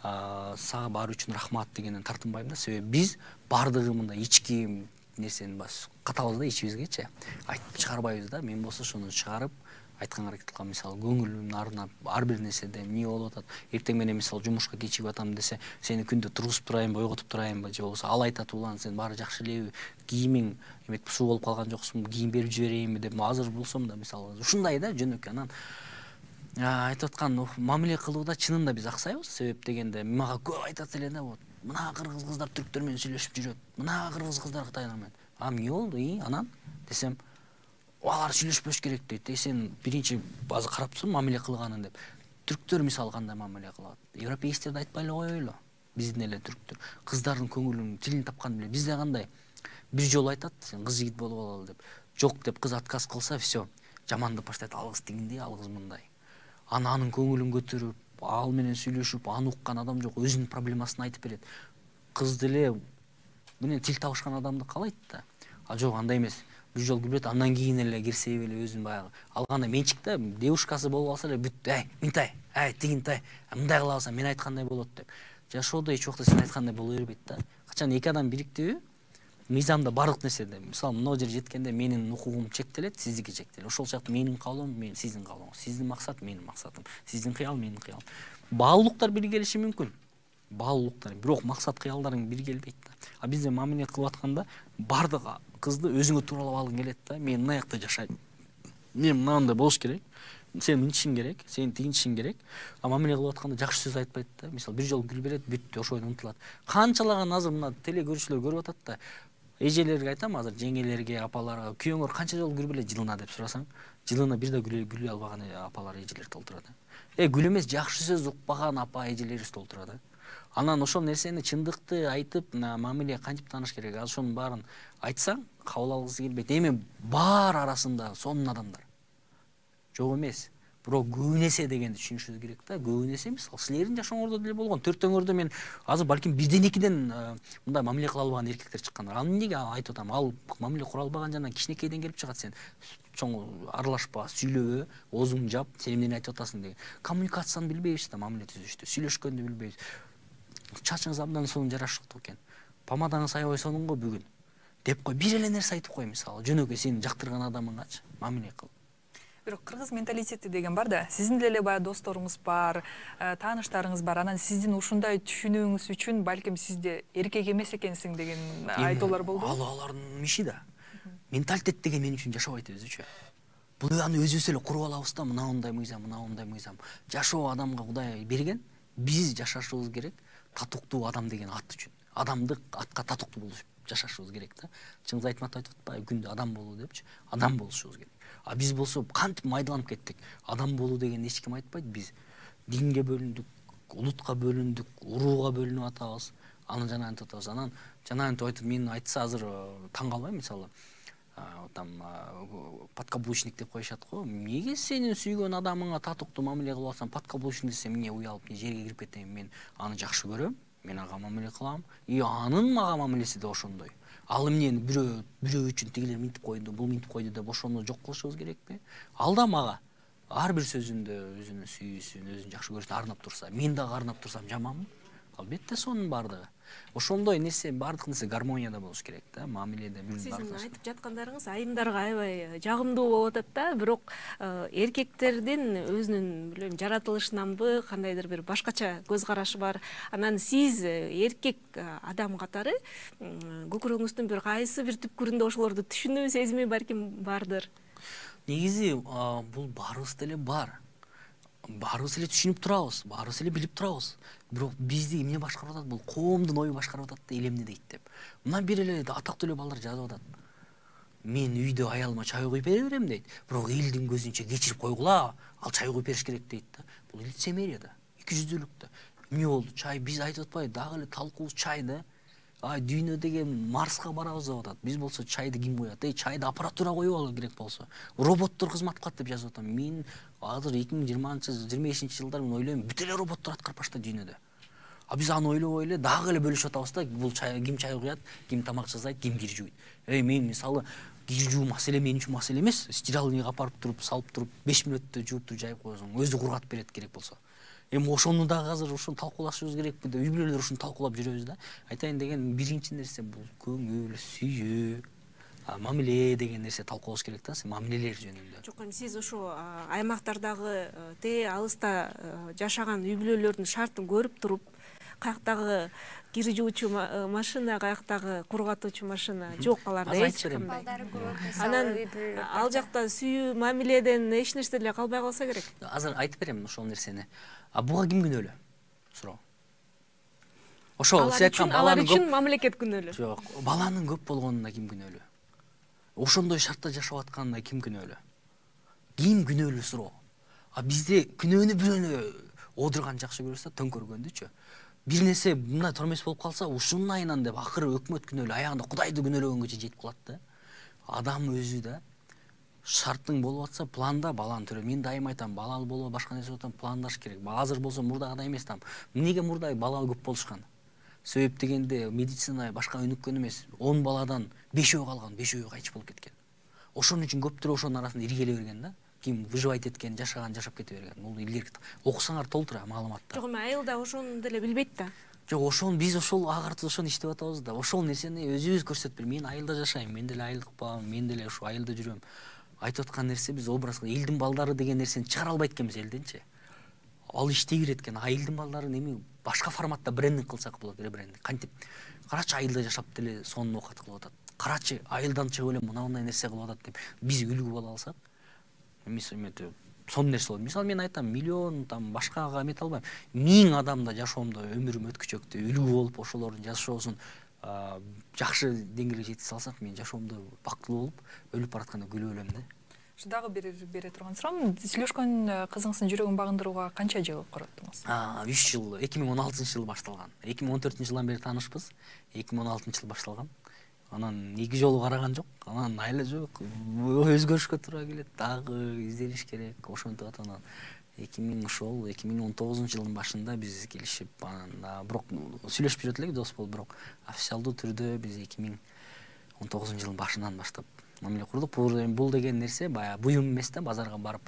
сага баары үчүн рахмат дегенден тартынбайм да. Себеп биз баардыгы мындай ички нерсени катабыз да ичибизгечи. Айтып чыгарбайбыз да. Мен болсо ошону чыгарып, айтканга аракет кылам. Мисалы көңүлүмдү арнап, ар бир нерседе эмне болуп атат. Эртең менен мисалы жумушка кечигип атам десе, сени күндө тургузуп турайынбы, ойготуп турайынбы, же болбосо ал айтат, улан сен баары жакшы элеби, кийимиң эметип суу болуп калган жоксуңбу, кийим берип жиберейинби деп азыр болсом да мисалы ушундай да жөнөкөй. Анан айтып аткан мамиле кылууда чынында биз аксайбыз. Себеп дегенде мага көп айтат эле да, вот мына кыргыз кыздар түрктөр менен сүйлөшүп жүрөт, мына кыргыз кыздар кытайлар менен. Эмне болду анан десем, алар сүйлөшпөш керек дейт. Сен биринчи азыр карап тур мамиле кылганын деп. Түрктөр мисалы кандай мамиле кылат? Европейцтерди айтпай эле коелу. Биздин эле түрктөр кыздардын көңүлүн тилин тапкан биле. Бизде кандай? Бир жолу айтат, сен кыз жигит болуп алалы деп. Жок деп кыз отказ кылса, все. Жамандап баштайт, ал кыз тигиндей, ал кыз мындай. Анын көңүлүн көтөрүп, ал менен сүйлөшүп, аны уккан адам жок, өзүнүн проблемасын айтып берет. Кыз деле менен тил табышкан адамды каалайт да. Жок, андай эмес. Бир жолу күлөт, андан кийин эле кирсе эле өзүн баягы алганда менчикте девушкасы болуп алса эле бүт, минтай, тигинтай, мындай кыла алсам мен айткандай болот деп. Жашоодо эч убакта сен айткандай боло бербейт да. Качан эки адам бириктиби, мыйзамда бардык нерседе, мисалы мына жер жеткенде менин укугум чектелет, сиздики чектелет. Ошол сыяктуу менин каалоом, сиздин каалооңуз, сиздин максат менин максатым, сиздин кыял менин кыялым. Баалуулуктар бир келиши мүмкүн. Баалуулуктар, бирок максат кыялдарың бир келбейт да. Бизде мамиле кылып атканда бардык кызды өзүңө тууралап алгың келет да. Мен мына жакта жашайм. Мен мынандай болуш керек. Сен мынтишиң керек, сен тигинтишиң керек. Мамиле кылып атканда жакшы сөз айтпайт да. Мисалы бир жолу күлүп берет, бүт ошо ойдон унутулат. Канчалаган азыр мына теле көрүүчүлөр көрүп атат да. Эжелерге айтам, азыр жеңелерге, апаларга, күйөөңөр канча жолу күлүп эле жылына деп сурасаң, жылына бир да күлө албаган апалар, эжелер толтура да. Күл эмес, жакшы сөз укпаган апа, эжелерибиз толтура да. Анан ошол нерсени чындыкты айтып, мамиле кантип тааныш керек? Ошонун баарын айтсаң, кабыл алгысы келбейт. Эми бар арасында сонун адамдар. Жок эмес. Бирок көбүнесе дегенди түшүнүшүбүз керек да. Көбүнесе мисалы силердин жашооңордо деле болгон. Төртөөңөрдө мен азыр балким бирден экиден мындай мамиле кыла албаган эркектер чыккандар. Ал эмнеге айтып атам? Ал мамиле кура албаган жана кичинекейден келип чыгат. Сен чоң аралашпа, сүйлөбө, оозуңду жап, сен эмнени айтып атасың деген. Коммуникацияны билбейбиз да, мамиле түзүштү. Сүйлөшкөндү билбейбиз. Чачыңыз абдан сонун жарашыктуу экен. Помадаңыз аябай сонун го бүгүн. Деп кой, бир эле нерсе айтып кой мисалы. Жөнөкөй сени жактырган адамыңгачы мамиле кыл. Бирок кыргыз менталитети деген бар да. Сиздин деле баягы досторуңуз бар, тааныштарыңыз бар. Анан сиздин ушундай түшүнүүңүз үчүн балким сизде эркек эмес экенсиң деген айтуулар болду. Алардын миши да. Менталитет деген мен үчүн жашоо айтып өзүчө. Бул аны өзүбүз эле куруп алабыз да, мындай мыйзам, мындай мыйзам. Жашоо адамга Кудай берген, биз жашашыбыз керек татыктуу адам деген ат үчүн. Адамдык атка татыктуу болуп жашашыбыз керек да. Чыңгыз Айтматов айтып атпайбы, күндө адам болуу депчи, адам болушубуз керек. Биз болсо кантип майдаланып кеттик. Адам болуу деген эч ким айтпайт. Биз динге бөлүндүк, улутка бөлүндүк, урууга бөлүнүп атабыз. Аны жана антип атабыз. Анан жана антип айтып мен айтса азыр таң калбайм, мисалы там подкаблучник деп коюшат го. Эмнеге сенин сүйгөн адамыңа татыктуу мамиле кылып атсаң, подкаблучник десем эмне уялып жерге кирип кетем. Мен аны жакшы көрөм. Мен ага мамиле кылам. Анын мага мамилеси да ошондой. Ал эмнени бирөө үчүн тигилер минтип койду, бул минтип койду деп ошону жок кылышыбыз керекпи? Ал да мага ар бир сөзүндө өзүнүн сүйүүсүн, өзүн жакшы көрүүсүн арнап турса, мен дагы арнап турсам жаманмы? Албетте сонун бардыгы. Ошондой нерсе, бардык нерсе гармонияда болуш керек да, мамиледе бир Сиздин айтып жаткандарыңыз айымдарга аябай жагымдуу болуп атат да, бирок эркектердин өзүнүн билем жаратылышынанбы, кандайдыр бир башкача көз карашы бар. Анан сиз эркек адам катары көкүрөгүңүздүн бир кайсы бир түпкүрүндө ошолорду түшүнүү сезими балким бардыр. Негизи бул баарыбыз деле бар. Баарыбыз эле түшүнүп турабыз, баарыбыз эле билип турабыз. Бирок бизди эмне башкарып атат? Бул коомдун ою башкарып атат да, элемне дейт деп. Мына бир эле атактуу эле балдар жазып атат. Мен үйдө аялыма чай куюп бере берем дейт. Бирок элдин көзүнчө кечирип койгула, ал чай куюп бериш керек дейт да. Бул лицемерие да, экижүздүүлүк да. Эмне болду? Чай биз айтып атпайбы, дагы эле талкуубуз чай да. Дүйнө деген Марска барабыз деп атат. Биз болсо чайды ким куят? Чайды аппаратура коюп алуу керек болсо. Роботтор кызмат кылат деп жазып атам. Мен азыр 2025 жылдар мен ойлойм, бүт эле роботтор аткарып баштады дүйнөдө. Биз аны ойлобой эле дагы эле бөлүшүп атабыз да. Бул ким чай куят, ким тамак жасайт, ким кир жууйт. Мен мисалы кир жуу маселе мен үчүн маселе эмес. Стиральныйга апарып туруп, салып туруп 5 мүнөттө жууп туруп жайып коесуң. Өзү кургатып берет керек болсо. Ошону дагы азыр ушуну талкуулашыбыз керекпи деп, үй бүлөлөр ушуну талкуулап жүрөбүз да. Айтайын деген биринчи нерсе бул көңүл, сүйүү, мамиле деген нерсе талкуулаш керек да, мамилелер жөнүндө. Жок, сиз ошо аймактардагы алыста жашаган үй бүлөлөрдүн шартын көрүп туруп, каяктагы кир жуучу машина, каяктагы кургатуучу машина жок аларда эч кандай. Анан ал жакта сүйүү мамиледен эч нерсе деле калбай калса керек. Азыр айтып берем ошол нерсени. Буга ким күнөөлүү? Суроо. Ошол алар үчүн мамлекет күнөөлүү. Жок, баланын көп болгонуна ким күнөөлүү? Ошондой шартта жашап атканына ким күнөөлүү? Ким күнөөлүү суроо? Бизде күнөөнү бирөөнү одурган жакшы көрөбүз да, төңкөргөндүчү. Бир нерсе мындай тормес болуп калса, ушунун айынан деп акыры өкмөт күнөөлүү, аягында Кудайды күнөөлөгөнгө жетип калат да. Адам өзү да шарттың болуп атса, планда баланы төрө. Мен дайым айтам, балалы болуу, башка нерсе отам, пландаш керек. Азыр болсо мурдагыдай эмес там. Эмнеге мурда бала көп болушкан? Себеп дегенде медицина башка өнүккөн эмес. 10 баладан 5-өө калган, 5-өө кайтыш болуп кеткен. Ошон үчүн көптөр ошонун арасында иргеле берген да. Ким выживать эткен, жашаган, жашап кете берген. Бул илгерки окусаңар толтура маалыматта. Жок, айыл да ошону деле билбейт да. Жок, ошол биз ошол агартып ошону иштеп атабыз да. Ошол нерсени өзүбүз көрсөтүп, мен айылда жашайм, мен деле айылдык балам, мен деле ошо айылда жүрөм. Айтып аткан нерсе биз образга элдин балдары деген нерсени чыгара албайт экенбиз элденчи. Ал иштей берет экен. Айылдын балдарын эми башка форматта брендинг кылсак болот, ребрендинг. Кантип? Карачы айылда жашап деле сонун оокат кылып атат. Карачы айылдан чыгып эле мындай нерсе кылып атат деп биз үлгү боло алсак, сонун нерсе болот. Мисалы мен айтам, миллион там башкага эмете албайм. 1000 адамда жашоомдо өмүрүм өткүчөктү үлгү болуп, ошолордун жашоосун жакшы деңгээлге жеткизе алсак, мен жашоомдо бактылуу болуп, өлүп баратканда күлүп өлөм да. Дагы бере турган суроом, сүйлөшкөн кызыңыздын жүрөгүн багындырууга канча жыл короттуңуз? 3 жыл, 2016-жылы башталган. 2014-жылдан бери таанышпыз. 2016-жылы башталган. Анан 2 жолу караган жок. Анан айла жок. Өзгөрүшкө туура келет, дагы издениш керек. Ошентип атат. 2019-жылдын башында биз келишип, анан бирок сүйлөшүп жүрөт элек, дос болуп, бирок официалдуу түрдө биз 2019-жылдын башынан баштап мамиле курдук. Бул деген нерсе баягы буюм эмес да, базарга барып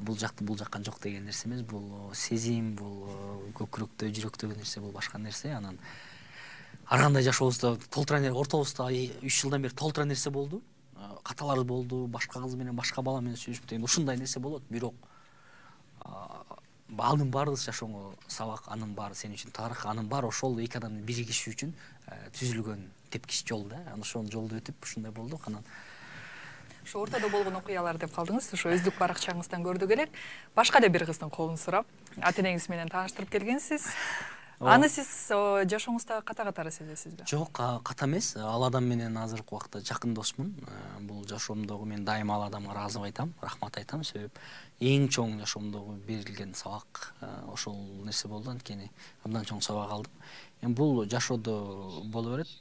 бул жакты бул жакка жок деген нерсе эмес. Бул сезим, бул көкүрөктө, жүрөктөгү нерсе, бул башка нерсе. Анан ар кандай жашообузда толтура ортобузда 3 жылдан бери толтура нерсе болду. Каталар болду, башка кыз менен, башка бала менен сүйлөшүп деген ушундай нерсе болот. Бирок анын баары жашооңо сабак, анын баары сен үчүн тарых, анын баары ошол эки адамдын биригиши үчүн түзүлгөн тепкич жол да. Ошол жолду өтүп ушундай болдук. Анан ошо ортодо болгон окуялар деп калдыңыз. Ошо өздүк баракчаңыздан көрдүк элек. Башка да бир кыздын колун сурап, ата-энеңиз менен тааныштырып келгенсиз. Аны сиз жашооңузда ката-катары сезесизби? Жок, ката эмес. Ал адам менен азыркы убакта жакын досмун. Бул жашоомдогу мен дайыма ал адамга ыраазы айтам, рахмат айтам. Себеп эң чоң жашоомдогу берилген сабак ошол нерсе болду. Анткени абдан чоң сабак алдым. Эми бул жашоодо боло берет.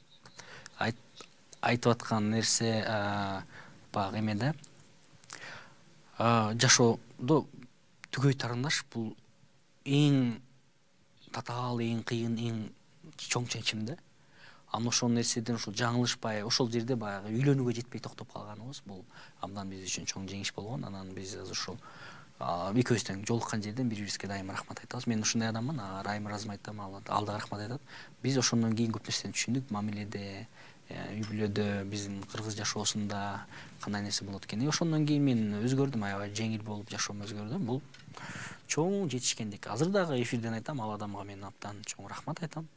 Айтып аткан нерсе баягы эмеде жашоодо түгөй тарандаш бул эң татаал, эң кыйын, эң чоң чечим да. Анан ошол нерседен ошол жаңылышпай, ошол жерде баягы үйлөнүүгө жетпей токтоп калганыбыз бул абдан биз үчүн чоң жеңиш болгон. Анан биз ошол экөөбүз тең жолуккан жерден бири-бирибизге дайыма рахмат айтабыз. Мен ушундай адаммын, Райым ыраазы айтам, ал да рахмат айтат. Биз ошондон кийин көп нерсени түшүндүк, мамиледе, үй бүлөдө, биздин кыргыз жашоосунда кандай нерсе болот экен. Ошондон кийин мен өзгөрдүм, аябай жеңил болуп жашоом өзгөрдү. Бул чоң жетишкендик. Азыр дагы эфирден айтам, ал адамга мен абдан чоң рахмат айтам.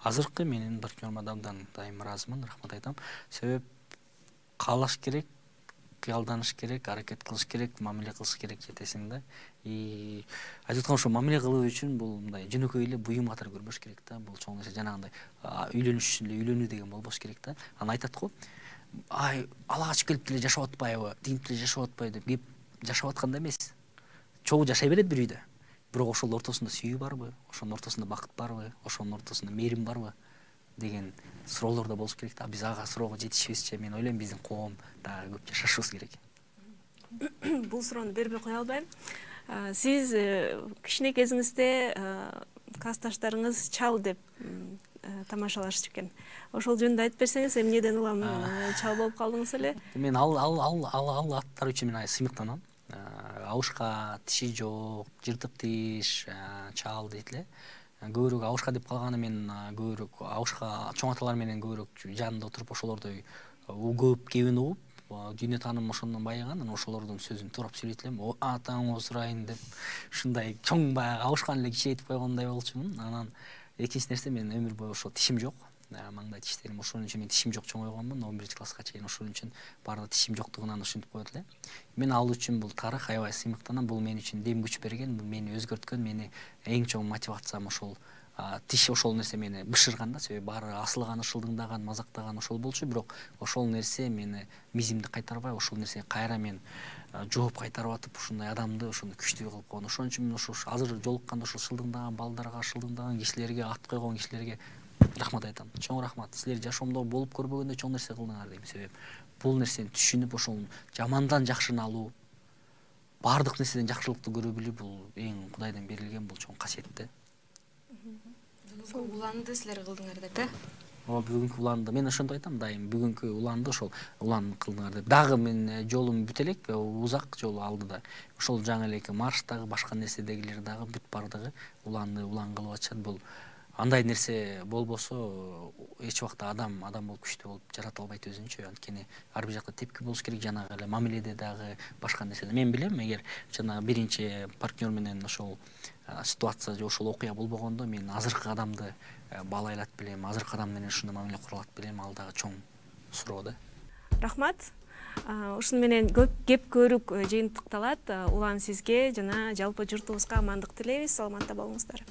Азыркы менин партнерума абдан дайым ыраазымын, рахмат айтам. Себеп каалаш керек, кыялданыш керек, аракет кылыш керек, мамиле кылыш керек жетесиң да. Айтып аткан ошо мамиле кылуу үчүн бул мындай жөнөкөй эле буюм катары көрбөш керек да. Бул чоң нерсе, жанагындай үйлөнүш үчүн эле үйлөнүү деген болбош керек да. Анан айтат го, ала качып келип деле жашап атпайбы, тигинип деле жашап атпайбы деп, кеп жашап атканда эмес. Чогуу жашай берет бир үйдө. Бирок ошол ортосунда сүйүү барбы, ошонун ортосунда бакыт барбы, ошонун ортосунда мээрим барбы деген суроолор да болуш керек да. Биз ага суроого жетишибизче, мен ойлойм биздин коом дагы көп жашашыбыз керек. Бул суроону бербей кое албайм. Сиз кичине кезиңизде классташтарыңыз чал деп тамашалашчу экен. Ошол жөнүндө айтып берсеңиз, эмнеден улам чал болуп калдыңыз эле? Мен ал аттар үчүн мен сыймыктанам. Абышка, тиши жок, жыртык тиш, чал дейт эле. Көбүрөөк абышка деп калганы мен көбүрөөк абышка чоң аталар менен көбүрөөк жанында отуруп ошолордой көп кебин угуп, дүйнө тааным ошондон байыган, анан ошолордун сөзүн туурап сүйлөйт элем. Атаңы сурайын деп ушундай чоң баягы абышканы эле кичирейтип койгондой болчумун. Анан экинчи нерсе, мен өмүр бою ошо тишим жок, маңдай тиштерим, ошон үчүн мен тишим жок чоңойгонмун, 11 класска чейин ошон үчүн баардык тишим жоктугунан ушинтип коет эле. Мен ал үчүн бул тарых аябай сыймыктанам, бул мен үчүн дем күч берген, бул мени өзгөрткөн, мени эң чоң мотивациям ошол тиш, ошол нерсе мени бышырган да, себеби баары асылган, ышылдыңдаган, мазактаган ошол болчу, бирок ошол нерсе мени мизимди кайтарбай, ошол нерсеге кайра мен жооп кайтарып атып, ушундай адамды ошондой күчтүү кылып койгон. Ошон үчүн мен ошо азыр жолукканда ошол шылдыңдаган балдарга, шылдыңдаган кишилерге, ат койгон кишилерге рахмат айтам. Чоң рахмат. Силер жашоомдо болуп көрбөгөндөй чоң нерсе кылдыңар дейм. Себеби бул нерсени түшүнүп, ошол жамандан жакшыны алуу, баардык нерседен жакшылыкты көрө билүү, бул эң Кудайдан берилген бул чоң касиет да. Уланды силер кылдыңар деп, э? Бүгүнкү уланды мен ошентип айтам дайым, бүгүнкү уланды ошол улан кылдыңар деп. Дагы мен жолум бүт элек, узак жол алдыда. Ошол жаңы элеки марштагы, башка нерседегилер дагы бүт бардыгы уланды, улан кылып атышат. Бул андай нерсе болбосо эч убакта адам болуп күчтүү болуп жарата албайт өзүнчө. Анткени ар бир жакта тепки болуш керек, жанагы эле мамиледе дагы, башка нерседе. Мен билем, эгер жанагы биринчи партнер менен ошол ситуация же ошол окуя болбогондо, мен азыркы адамды баалайлат билем, азыркы адам менен ушундай мамиле куралат билем, ал дагы чоң суроо да. Рахмат. Ушуну менен көп кеп көрүк жыйынтыкталат. Улан сизге жана жалпы журтубузга амандык тилейбиз. Саламатта болуңуздар.